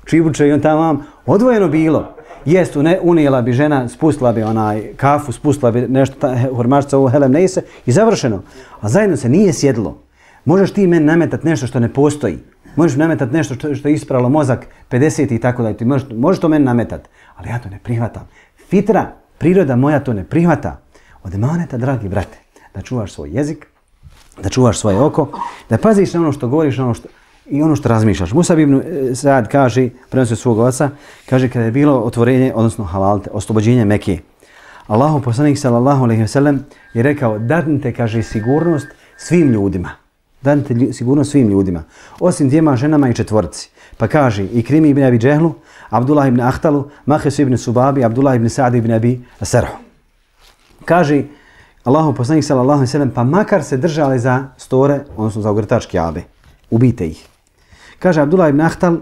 čibuče i on tamo vam. Odvojeno bilo. Jest, unijela bi žena, spustila bi onaj kafu, spustila bi nešto, hormašca ovo helem ne se i završeno. A zajedno se nije sjedlo. Možeš ti meni nametati nešto što ne postoji. Možeš nametati nešto što, što je ispravilo mozak pedeset i tako da ti možeš, možeš to meni nametati. Ali ja to ne prihvatam. Fitra, priroda moja to ne prihvata. Od emaneta, dragi brate, da čuvaš svoj jezik, da čuvaš svoje oko, da paziš na ono što govoriš, na ono što, i ono što razmišljaš. Musab ibn Sa'ad kaže, prenosio svog oca, kaže kada je bilo otvorenje, odnosno halalte, oslobođenje Mekije. Allahu poslanik sallallahu alejhi ve sellem je rekao, dadnite, kaže, sigurnost svim ljudima. Dadnite sigurnost svim ljudima, osim dvijema ženama i četvorci. Pa kaže, Ikrimi ibn Abi Džehlu, Abdullah ibn Ahtalu, Mahes ibn Subabi, Abdullah ibn Sa'ad ibn Abi Sarhu. Kaže, Allahu poslanik sallallahu alejhi ve sellem, pa makar se držali za store, odnosno za ogrtač Kjabe, ubijte ih. Kaže Abdullah ibn Ahtal,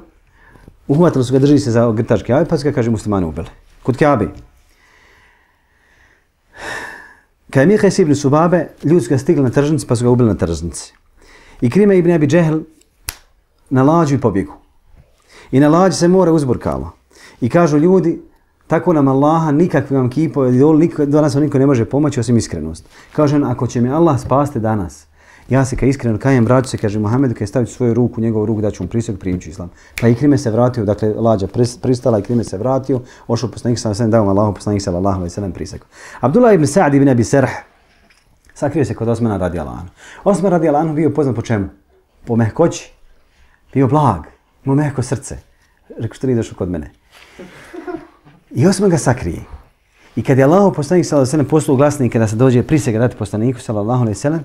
uhvatili su ga, drži se za ogrtač Kjabe, pa su ga, kaže, muslimani ubili. Kod Kjabe. Kad je Mihes ibn Subabe, ljudi su ga stigli na tržnici, pa su ga ubili na tržnici. I Krime ibn Abi Džehl na lađu i pobjegu. I na lađu se more uzburkalo. I kažu ljudi, tako nam Allaha, nikakvi vam kipo, do nas vam niko ne može pomoći osim iskrenost. Kaže on, ako će mi Allah spasti danas, ja se kad iskreno kajem, vraću se, kaže Muhammedu, kad staviti svoju ruku, njegovu ruku, da ću mu prisjeg, primit ću islam. Pa i Krime se vratio, dakle lađa pristala i Krime se vratio, ošao poslanik sallallahu alejhi ve sellem, dao Allahu poslanik sallallahu alejhi ve sellem prisjeg. Abdullah ibn Sa'd ibn Abi Sarh sakrio se kod Osmana radijallahu anhu. Osman radijallahu anhu bio poznat po čemu? Po mehkoći. Bio blag, imao mehko srce. Rekao, što li došao kod mene? I Osman ga sakrije. I kad je Allahu poslanik sallallahu alejhi ve sellem poslao glasnike da se dođe prisega dati poslaniku sallallahu alejhi ve sellem,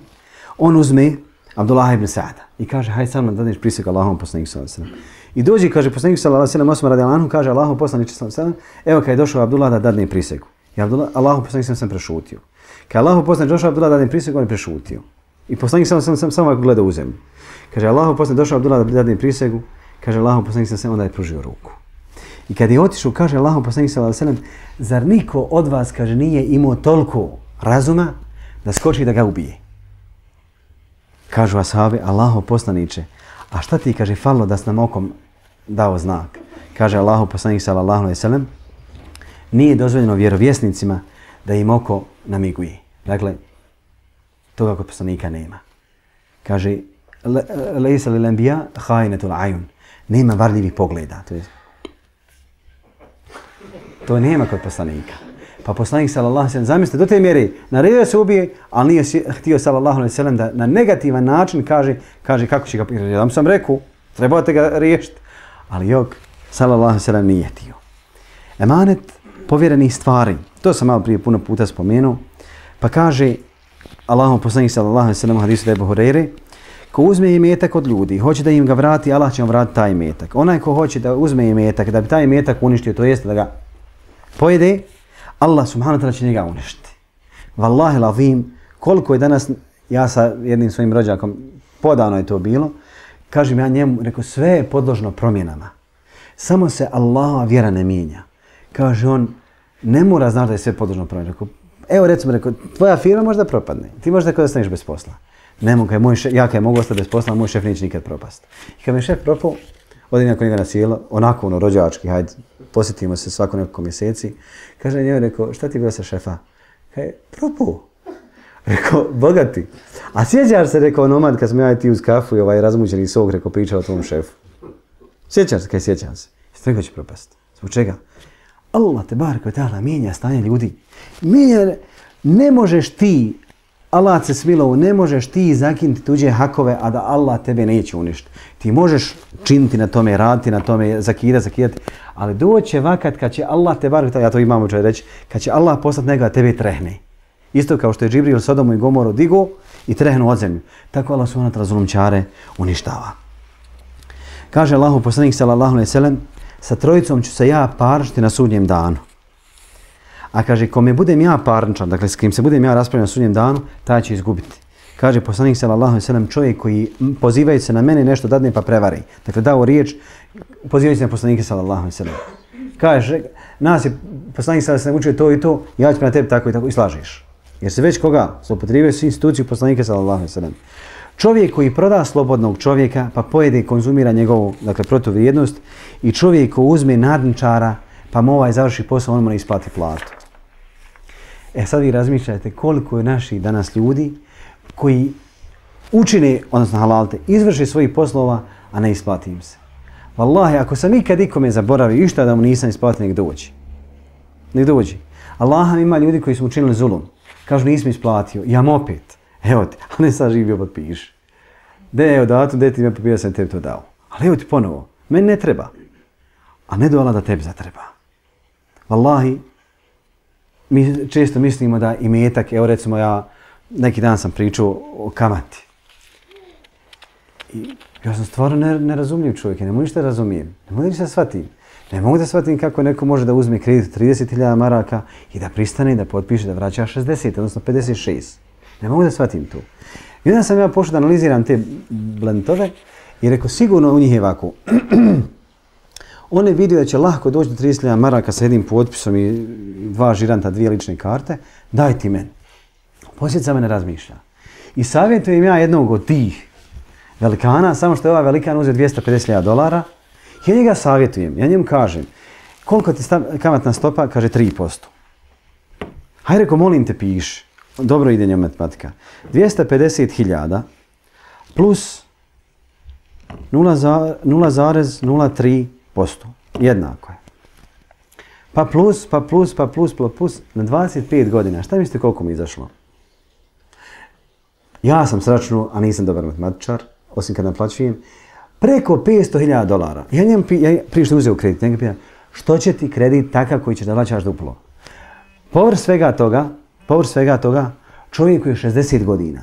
on uzme Abdullah ibn Sa'da i kaže, hajde sa mnom da dadneš prisegu Allahom poslaniku sallallahu alejhi ve sellem. I dođe, kaže poslanik sallallahu alejhi ve sellem, Osman radijallahu anhu, kaže Allahu poslanik sallallahu alejhi ve sellem, evo kad je došao Abdullah da dadne prisegu. I Abdullah, Allahu poslanik sallallahu alejhi ve sellem prešutio. Kad Allahu poslanik došao Abdullah da dadne prisegu, on je prešutio. I poslanik sallallahu alejhi ve sellem samo gleda u zemlju. Kaže Allahu poslanik došao Abdullah da dadne prisegu, kaže Allahu poslanik sallallahu alejhi ve sellem, onda je pružio ruku. I kad je otišao, kaže Allahu poslanik sallallahu alejhi ve sellem, zar niko od vas, kaže, nije imao toliko razuma da skoči da ga ubije? Kažu ashabi, Allahu poslaniče, a šta ti, kaže, falilo da s nam okom dao znak? Kaže Allahu poslanik sallallahu alejhi ve sellem, nije dozvoljeno vjerovjesnicima da im oko namiguje. Dakle, toga kod poslanika nema. Kaže, lejsa lil anbiya khainetul ayun. Nema varljivih pogleda. To je To nema kod poslanika. Pa poslanik sallallahu alejhi ve sellem, zamislite, do te mjere naredio se ubije, ali nije htio sallallahu alejhi ve sellem da na negativan način kaže, kaže kako će ga, ja sam rekao, trebate ga riješiti. Ali jok, sallallahu alejhi ve sellem nije htio. Emanet povjerenih stvari, to sam malo prije puno puta spomenuo, pa kaže Allahov poslanik sallallahu alejhi ve sellem u hadisu Ebu Hurajre, ko uzme imetak od ljudi, hoće da im ga vrati, Allah će mu vratiti taj imetak. Onaj ko hoće da uzme imetak, da bi taj imetak uništio, to jeste da ga pojede, Allah subhanahu wa ta'ala će njega uništiti. Wallahi l'azim, koliko je danas, ja sa jednim svojim rođakom, podavno je to bilo, kažem ja njemu, rekao, sve je podložno promjenama. Samo se Allahova vjera ne mijenja. Kaže on, ne mora znaš da je sve podložno promjenama. Rekao, evo recimo, rekao, tvoja firma možda propadne, ti možda kada ostaneš bez posla. Ne mogu, kaj moj šef, ja kaj mogu ostati bez posla, moj šef neće nikad propast. I kad mi je šef propao, odim nakon njega na sjelo, onako ono rođački, hajde, posjetimo se svako nekoliko mjeseci. Kaže njoj, rekao, šta ti bilo sa šefa? Kaj, propao. Rekao, bogati. A sjećaš se, rekao nomad, kad smo ja i ti uz kafu i ovaj razmućeni sok, rekao, pričao o tom šefu. Sjećaš se, kaj sjećam se. Jeste rekao će propast. Zbog čega? Allah te bar koji ta'ala mijenja stanje ljudi. Mijenja, ne možeš ti, Allah se smilovo, ne možeš ti zakinuti tuđe hakove, a da Allah tebe neće uništiti. Ti možeš činiti na tome, raditi na tome, zakidati, zakidati, ali doće vakat kad će Allah te bar, ja to imam učaj reći, kad će Allah poslati nekoga tebe trehne. Isto kao što je Džibril Sodomu i Gomoru digo i trehnu od zemlju. Tako Allah subhanahu wa ta'ala zulumčare uništava. Kaže Allahu poslanik sallallahu alejhi ve sellem, sa trojicom ću se ja parničiti na sudnjem danu. A kaže, kome budem ja parničan, dakle s kim se budem ja raspravljati na sudnjem danu, taj će izgubiti. Kaže poslanik sallallahu alejhi ve sellem, čovjek koji pozivajući se na mene nešto dadne pa prevari. Dakle, dao riječ, pozivajući se na poslanike sallallahu alejhi ve sellem. Kaže, nas je poslanik sallallahu alejhi ve sellem učio to i to, ja ću na tebi tako i tako i slažeš. Jer se već koga zloupotrijebio su instituciju poslanika sallallahu alejhi ve sellem. Čovjek koji proda slobodnog čovjeka pa pojede i konzumira njegovu, dakle, protuvrijednost, i čovjek koji uzme nadničara pa mu ovaj završi posao, on mu ne isplati platu. E sad vi razmišljajte koliko je naših danas ljudi koji učine, odnosno halalte, izvrše svojih poslova, a ne isplati im se. Wallahi, ako sam ikad ikome zaboravio išta da mu nisam isplatio, nek dođi. Nek dođi. Allaham ima ljudi koji su učinili zulum. Kažu, nisam isplatio, jam opet. Evo ti, a ne sad živio potpiši. De, evo datum, de ti me papira, sam tebi to dao. Ali evo ti ponovo, meni ne treba. A ne do Allah da tebi zatreba. Wallahi, mi često mislimo da imetak, evo recimo ja, neki dan sam pričao o kamati. I ja sam stvarno ne, nerazumljiv čovjek, ne mogu ništa razumijem, ne mogu ništa shvatim. Ne mogu da shvatim kako neko može da uzme kredit trideset hiljada maraka i da pristane, da potpiše, da vraća šezdeset, odnosno pedeset šest. Ne mogu da shvatim to. I onda sam ja pošao da analiziram te blentove i rekao, sigurno u njih je ovako. On je vidio da će lahko doći do trideset hiljada maraka sa jednim potpisom i dva žiranta, dvije lične karte, daj ti meni. Poslije sa mene razmišlja. I savjetujem ja jednog od tih velikana, samo što je ovaj velikan uzeo dvjesto pedeset hiljada dolara, ja njega savjetujem, ja njemu kažem, koliko ti kamatna stopa? Kaže tri posto. Hajde, reko, molim te, piši. Dobro ide njom matematika. dvjesto pedeset hiljada plus nula zarez nula tri posto. Jednako je. Pa plus, pa plus, pa plus, pa plus, na dvadeset pet godina. Šta mislite koliko mi izašlo? Ja sam sračnuo, a nisam dobar matematičar, osim kad naplaćujem, preko petsto hiljada dolara. Ja njem ja, prije što uzeo kredit, njega pitam, što će ti kredit takav koji ćeš da plaćaš duplo? Povrh svega toga, povrh svega toga, čovjek koji je šezdeset godina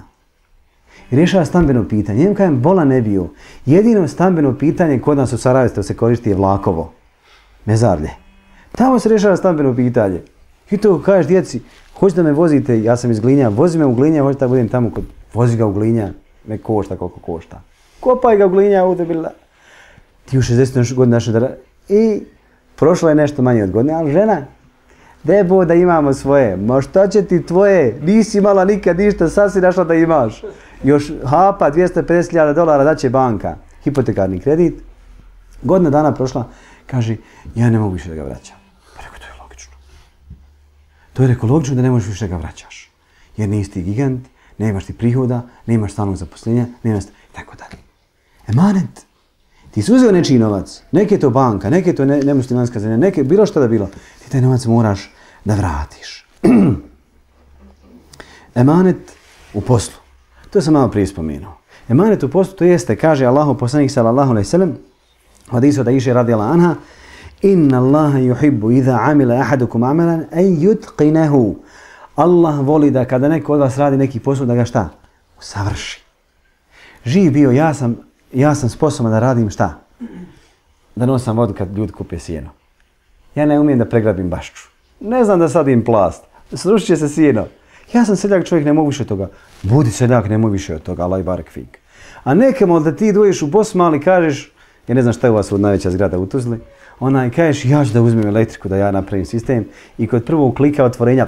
i rješava stambeno pitanje. Njem kajem, bola ne bio. Jedino stambeno pitanje kod nas u Sarajevu se koristi je Vlakovo. Mezarlje. Tamo se rješava stambeno pitanje. I to kažeš djeci, hoćete da me vozite, ja sam iz Glinja, vozi me u Glinja, hoćete da budem tamo, kod, vozi ga u Glinja, me košta koliko košta. Kopaj ga u Glinja, udebila. Ti u šezdeset godina našli da... I prošlo je nešto manje od godine, ali žena, debo da imamo svoje. Ma šta će ti tvoje? Nisi imala nikad ništa, sad si našla da imaš. Još hapa dvjesto pedeset hiljada dolara daće banka. Hipotekarni kredit. Godina dana prošla, kaže, ja ne mogu više da ga vraćam. Pa rekao, to je logično. To je rekao logično da ne možeš više da ga vraćaš. Jer nisi ti gigant, nemaš ti prihoda, nemaš stalnog zaposlenja, nemaš tako dalje. Emanet. Ti si uzeo nečiji novac, neke je to banka, neke je to ne, nemuslimanska zemlja, neke bilo što da bilo. Ti taj novac moraš da vratiš. Emanet u poslu. To sam malo prije spomenuo. Emanet u poslu to jeste, kaže Allahu poslanik sallallahu alejhi ve sellem, hadisu da iše radila anha, inna Allaha yuhibbu idha amila ahadukum amalan an yutqinahu. Allah voli da kada neko od vas radi neki posao da ga šta? Usavrši. Živ bio, ja sam, ja sam sposoban da radim šta? Da nosam vodu kad ljudi kupe sjeno. Ja ne umijem da pregrabim bašču. Ne znam da sadim plast. Srušit će se sjeno. Ja sam seljak čovjek, ne mogu više od toga. Budi seljak, ne mogu više od toga. Allah i barek fik. A nekemo da ti dođeš u Bosmali, kažeš, ja ne znam šta je u vas od najveća zgrada u Tuzli, onaj kažeš, ja ću da uzmem elektriku, da ja napravim sistem i kod prvog klika otvorenja,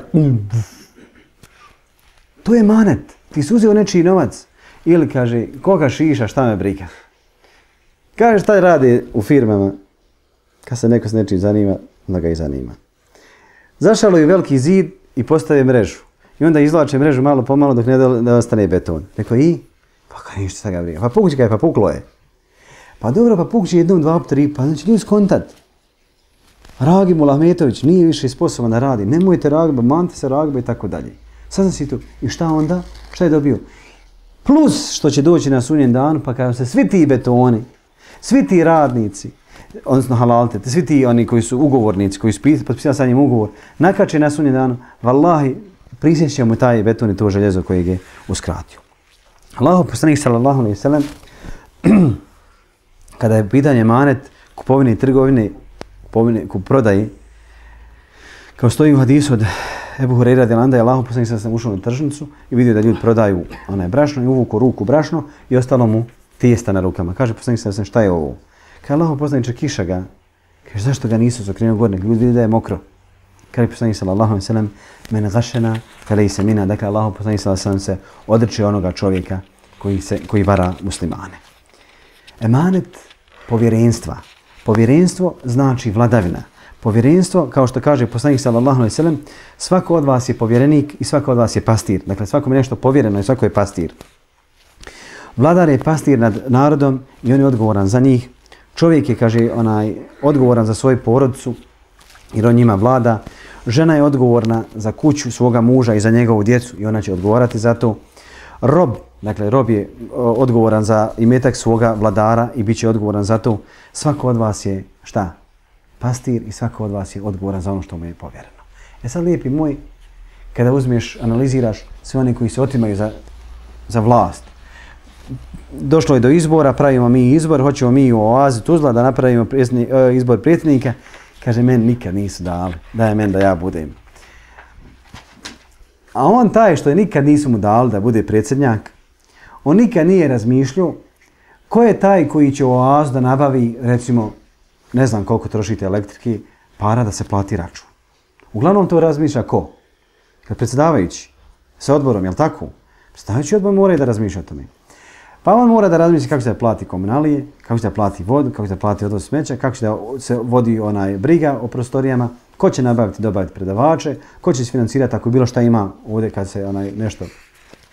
to je manet. Ti si uzeo nečiji novac. Ili kaže, koga šiša, šta me briga. Kaže, šta radi u firmama? Kad se neko s nečim zanima, onda ga i zanima. Zašalo je veliki zid i postave mrežu. I onda izvlače mrežu malo pomalo dok ne da ostane beton. Rekao, i? Pa kaj ništa sa ga briga. Pa pukući kaj, pa puklo je. Pa dobro, pa pukući jednom, dva, tri, pa znači ljudi skontat. Ragib Ahmetović nije više sposoban da radi. Nemojte Ragiba, mante se Ragiba i tako dalje. Sad si tu. I šta onda? Šta je dobio? Plus što će doći na sudnjem danu, pa kada se svi ti betoni, svi ti radnici, odnosno halalte, svi ti oni koji su ugovornici, koji su potpisali sa njim ugovor, nakače na sudnjem danu, vallahi, prisjeća mu taj beton i to željezo kojeg je uskratio. Allahu poslanik sallallahu alejhi ve sellem kada je pitanje emanet, kupovine i trgovine, kupovine, kuprodaje, kao stoji u hadisu od Ebu Hureyre radijallahu anhu, je Allahu poslanik sallallahu alejhi ve sellem ušao na tržnicu i vidio da ljudi prodaju onaj brašno i uvuku ruku brašno i ostalo mu tijesta na rukama. Kaže poslanik sallallahu alejhi ve sellem, šta je ovo? Kaže Allahu poslaniče, kiša ga. Kaže zašto ga nisu zakrenuo gore, ljudi vidi da je mokro. Kaže poslanik sallallahu alejhi ve sellem, men gashana falaysa minna. Dakle Allahu poslanik sallallahu alejhi ve sellem se odriče onoga čovjeka koji se koji vara muslimane. Emanet povjerenstva. Povjerenstvo znači vladavina. Povjerenstvo, kao što kaže poslanik sallallahu alejhi ve sellem, svako od vas je povjerenik i svako od vas je pastir. Dakle, svakom je nešto povjereno i svako je pastir. Vladar je pastir nad narodom i on je odgovoran za njih. Čovjek je, kaže, onaj odgovoran za svoju porodicu jer on njima vlada. Žena je odgovorna za kuću svoga muža i za njegovu djecu i ona će odgovarati za to. Rob, dakle, rob je odgovoran za imetak svoga vladara i bit će odgovoran za to. Svako od vas je, šta? Pastir i svako od vas je odgovoran za ono što mu je povjereno. E sad, lijepi moj, kada uzmeš, analiziraš sve one koji se otimaju za, za vlast. Došlo je do izbora, pravimo mi izbor, hoćemo mi u oazi Tuzla da napravimo predsjednik, izbor predsjednika. Kaže, meni nikad nisu dali, daj meni da ja budem. A on taj što je nikad nisu mu dali da bude predsjednjak, on nikad nije razmišljao ko je taj koji će u oazu da nabavi, recimo, ne znam koliko trošite elektrike, para da se plati račun. Uglavnom to razmišlja ko? Kad predsjedavajući sa odborom, jel tako? Predsjedavajući odbor mora i da razmišlja o tome. Pa on mora da razmišlja kako će da plati komunalije, kako će da plati vodu, kako će da plati odvoz smeća, kako će da se vodi onaj briga o prostorijama, ko će nabaviti, dobaviti predavače, ko će se financirati ako bilo šta ima ovdje kad se onaj nešto,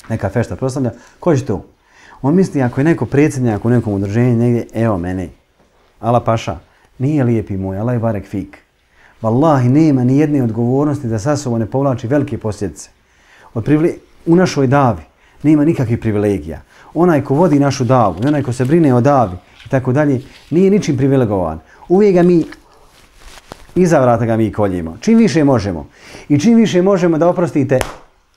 neka fešta proslavlja, ko će to? On misli ako je neko predsjednjak u nekom udruženju negdje, evo mene, ala paša, nije lijepi moj, ala je barek fik. Wallahi nema ni jedne odgovornosti da sa sobom ne povlači velike posljedice. Od privile... U našoj davi nema nikakvih privilegija. Onaj ko vodi našu davu, onaj ko se brine o davi i tako dalje, nije ničim privilegovan. Uvijek ga mi, iza vrata ga mi koljimo. Čim više možemo. I čim više možemo da oprostite,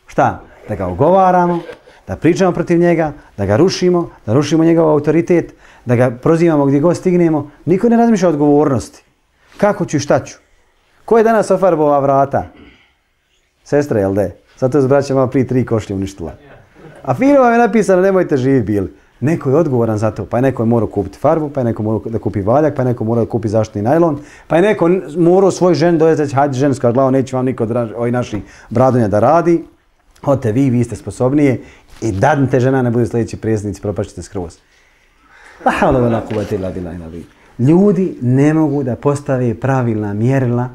šta? Da ga ugovaramo, da pričamo protiv njega, da ga rušimo, da rušimo njegov autoritet, da ga prozivamo gdje god stignemo. Niko ne razmišlja o odgovornosti. Kako ću i šta ću? Ko je danas ofarbova vrata? Sestra, jel de? Zato je braća malo prije tri košlje uništila. A fino vam je napisano nemojte živi bili. Neko je odgovoran za to, pa je neko je morao kupiti farbu, pa je neko morao da kupi valjak, pa je neko morao da kupi zaštitni najlon, pa je neko morao svoj žen dojezati, hajde žensko, glavo, neće vam niko od ovih naših bradonja da radi. Odite vi, vi ste sposobnije i dadnite žena ne budu sljedeći predsjednici, propašćete skroz. Ljudi ne mogu da postave pravilna mjerila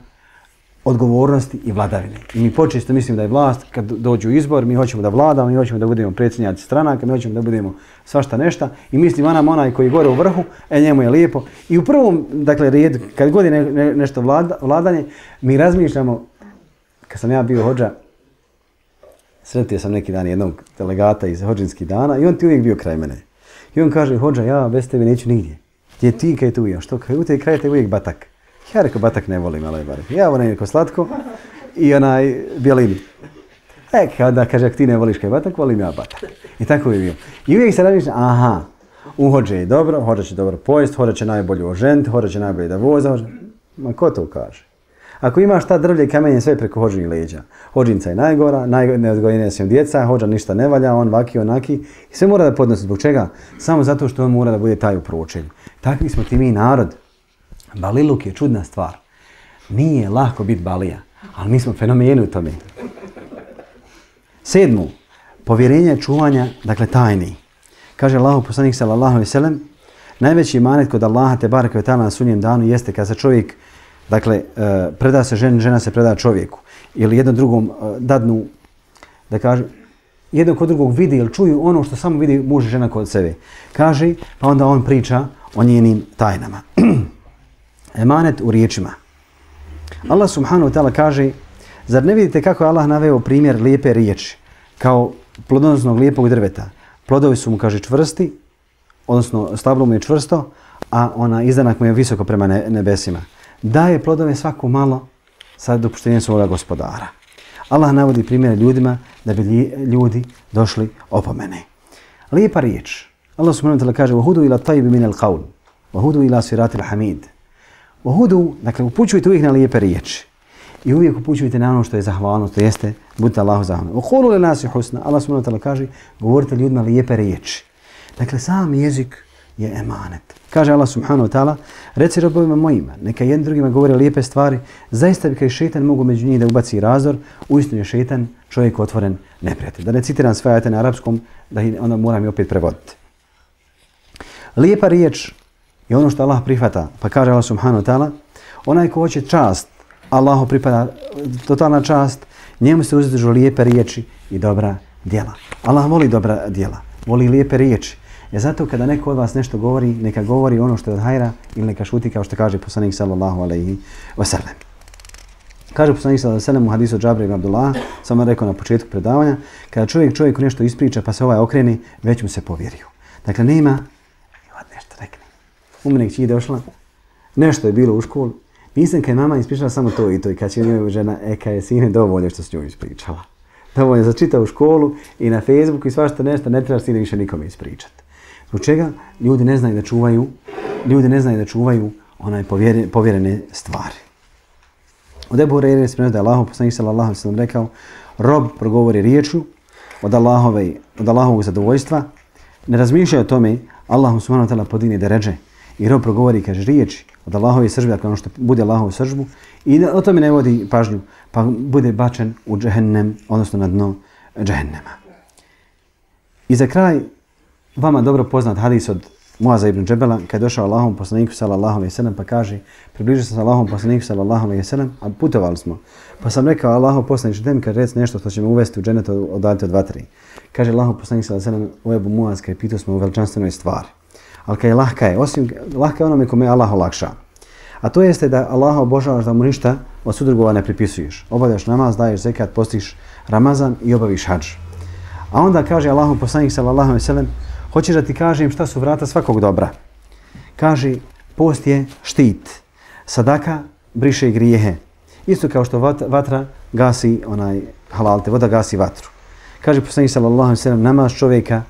odgovornosti i vladavine. I mi počesto mislim da je vlast, kad dođu izbor, mi hoćemo da vladamo, mi hoćemo da budemo predsjednjaci stranaka, mi hoćemo da budemo svašta nešta i mislim onam onaj koji je gore u vrhu, e njemu je lijepo. I u prvom, dakle, redu, kad god je ne, ne, nešto vlada, vladanje, mi razmišljamo, kad sam ja bio hodža, sretio sam neki dan jednog delegata iz hodžinskih dana i on ti uvijek bio kraj mene. I on kaže, hodža, ja bez tebe neću nigdje. Gdje ti, kaj tu ja? Što, kaj u te kraj te uvijek batak. Ja rekao, batak ne volim, ali barem. Ja volim neko slatko i onaj bjelini. E, kada kaže, ako ti ne voliš kaj batak, volim ja batak. I tako je bio. I uvijek se razmišlja, aha, u hođe je dobro, hođa će dobro pojest, hođa će najbolje oženiti, hođa će najbolje da voza. Hođa... Ma ko to kaže? Ako imaš ta drvlje i kamenje sve preko hođinih leđa. Hođinca je najgora, najneodgojenija su djeca, hođa ništa ne valja, on vaki, onaki. I sve mora da podnosi. Zbog čega? Samo zato što on mora da bude taj u pročelju. Takvi smo ti mi narod. Baliluk je čudna stvar. Nije lahko biti balija, ali mi smo fenomeni u tome. Sedmu, povjerenje čuvanja, dakle tajni. Kaže Allahu poslanik sallallahu alejhi ve sellem, najveći imanet kod Allaha te bareke ve taala na sudnjem danu jeste kad se čovjek, dakle, preda se ženi, žena se preda čovjeku. Ili jedno drugom dadnu, da kaže, jedno kod drugog vidi ili čuju ono što samo vidi muž i žena kod sebe. Kaže, pa onda on priča o njenim tajnama. Emanet u riječima. Allah subhanahu wa ta'ala kaže, zar ne vidite kako je Allah naveo primjer lijepe riječi, kao plodonosnog lijepog drveta. Plodovi su mu, kaže, čvrsti, odnosno stablo mu je čvrsto, a ona izdanak mu je visoko prema nebesima. Daje plodove svako malo sa dopuštenjem svoga gospodara. Allah navodi primjer ljudima da bi ljudi došli opomene. Lijepa riječ. Allah subhanahu wa ta'ala kaže, وَهُدُوا إِلَى الطَّيِّبِ مِنَ الْقَوْلِ Wahudu ila siratil hamid. Wahudu, dakle, upućujte uvijek na lijepe riječi. I uvijek upućujte na ono što je zahvalno, to jeste, budite Allahu zahvalni. Uqulu li nasi husna. Allah subhanahu wa ta'ala kaže, govorite ljudima lijepe riječi. Dakle, sam jezik je emanet. Kaže Allah subhanahu wa ta'ala, reci robovima mojima, neka jednim drugima govore lijepe stvari, zaista bi kao šeitan mogu među njih da ubaci razor, uistinu je šeitan čovjek otvoren neprijatelj. Da ne citiram sve ajete na arapskom, da onda moram i opet prevoditi. Lijepa riječ je ono što Allah prihvata, pa kaže Allah subhanahu wa ta'ala, onaj ko hoće čast, Allahu pripada totalna čast, njemu se uzdižu lijepe riječi i dobra djela. Allah voli dobra djela, voli lijepe riječi. Je zato kada neko od vas nešto govori, neka govori ono što je od hajra ili neka šuti kao što kaže poslanik sallallahu alejhi ve sellem. Kaže poslanik sallallahu alejhi ve sellem u hadisu Džabra ibn Abdullah, samo rekao na početku predavanja, kada čovjek čovjeku nešto ispriča pa se ovaj okreni, već mu se povjerio. Dakle, nema, evo nešto rekne. U mene kći došla, nešto je bilo u školu, nisam kad je mama ispričala samo to i to i kad će njoj žena, e kad je sine dovoljno što s njoj ispričala. Dovoljno za čitavu školu i na Facebooku i svašta nešto, ne trebaš sine više nikome ispričati. Zbog čega ljudi ne znaju da čuvaju, ljudi ne znaju da čuvaju onaj povjerene, povjerene stvari. Od Ebu Hurajre se prenosi da je Allahov poslanik sallallahu alejhi ve sellem rekao: rob progovori riječju od Allahove, od Allahovog zadovoljstva, ne razmišlja o tome, Allah subhanahu wa ta'ala podigne deredže i rob progovori kaže riječi od Allahove sržbe, dakle ono što bude Allahovu sržbu i o tome ne vodi pažnju, pa bude bačen u džehennem, odnosno na dno džehennema. I za kraj vama dobro poznat hadis od Muaza ibn Džebela, kad je došao Allahom poslaniku sallallahu alejhi ve sellem pa kaže, približio sam se Allahom poslaniku sallallahu alejhi ve sellem, a putovali smo. Pa sam rekao Allahov poslaniče, daj mi kad reci nešto što će me uvesti u dženet odalite od vatre. Kaže Allahov poslanik sallallahu alejhi ve sellem, o Ebu Muaz, kad je pitao smo u veličanstvenoj stvari. Ali kad je lahka je, osim lahka je onome kome Allah olakša. A to jeste da Allaha obožavaš, da mu ništa od sudrugova ne pripisuješ. Obavljaš namaz, daješ zekat, postiš Ramazan i obaviš hadž. A onda kaže Allahov poslanik sallallahu alejhi ve sellem, hoćeš da ti kažem šta su vrata svakog dobra? Kaže, post je štit, sadaka briše grijehe. Isto kao što vatra gasi onaj halalte, voda gasi vatru. Kaže poslanik sallallahu alejhi ve sellem, namaz čovjeka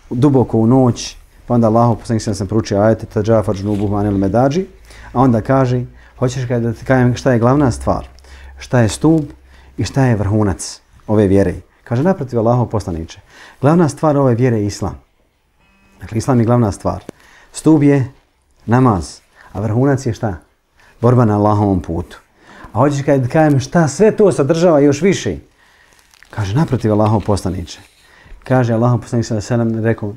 duboko u noć, pa onda Allahov poslanik sallallahu alejhi ve sellem proučio ajete tadžafar džunubuhum anil medađi, a onda kaže, hoćeš da ti kažem šta je glavna stvar, šta je stup i šta je vrhunac ove vjere. Kaže, naprotiv Allahov poslaniče, glavna stvar ove vjere je islam. Dakle, islam je glavna stvar. Stup je namaz, a vrhunac je šta? Borba na Allahovom putu. A hoćeš kada kažem šta sve to sadržava još više? Kaže, naprotiv Allahov poslaniče. Kaže, Allahov poslanik sallallahu alejhi ve sellem rekao,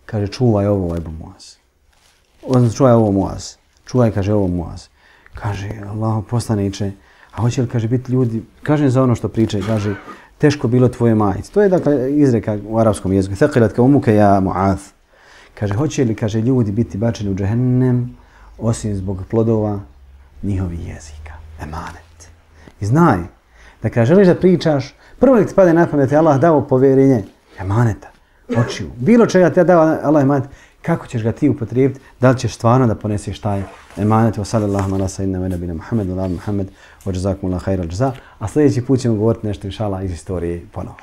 kaže, čuvaj ovo, Ebu Muaz. Odnosno, čuvaj ovo, Muaz. Čuvaj, kaže, ovo, Muaz. Kaže, Allahov poslaniče, a hoće li, kaže, biti ljudi, kažem za ono što pričaj, kaže, teško bilo tvoje majice. To je, dakle, izreka u arapskom jeziku. Thaqilat ka umuka ja Muaz. Kaže, hoće li, kaže, ljudi biti bačeni u džehennem, osim zbog plodova njihovih jezika. Emanet. I znaj, da kada želiš da pričaš, prvo nek ti pade na pamet, Allah dao povjerenje emaneta, očiju. Bilo čega ti dao Allah emanet, kako ćeš ga ti upotrijebiti, da li ćeš stvarno da poneseš taj emanet. Wa sallallahu ala sayyidina wa nabina Muhammed, wa ala Muhammed, wa jazakumullahu khairal jaza. A sljedeći put ćemo govoriti nešto, inšallah, iz istorije ponovo.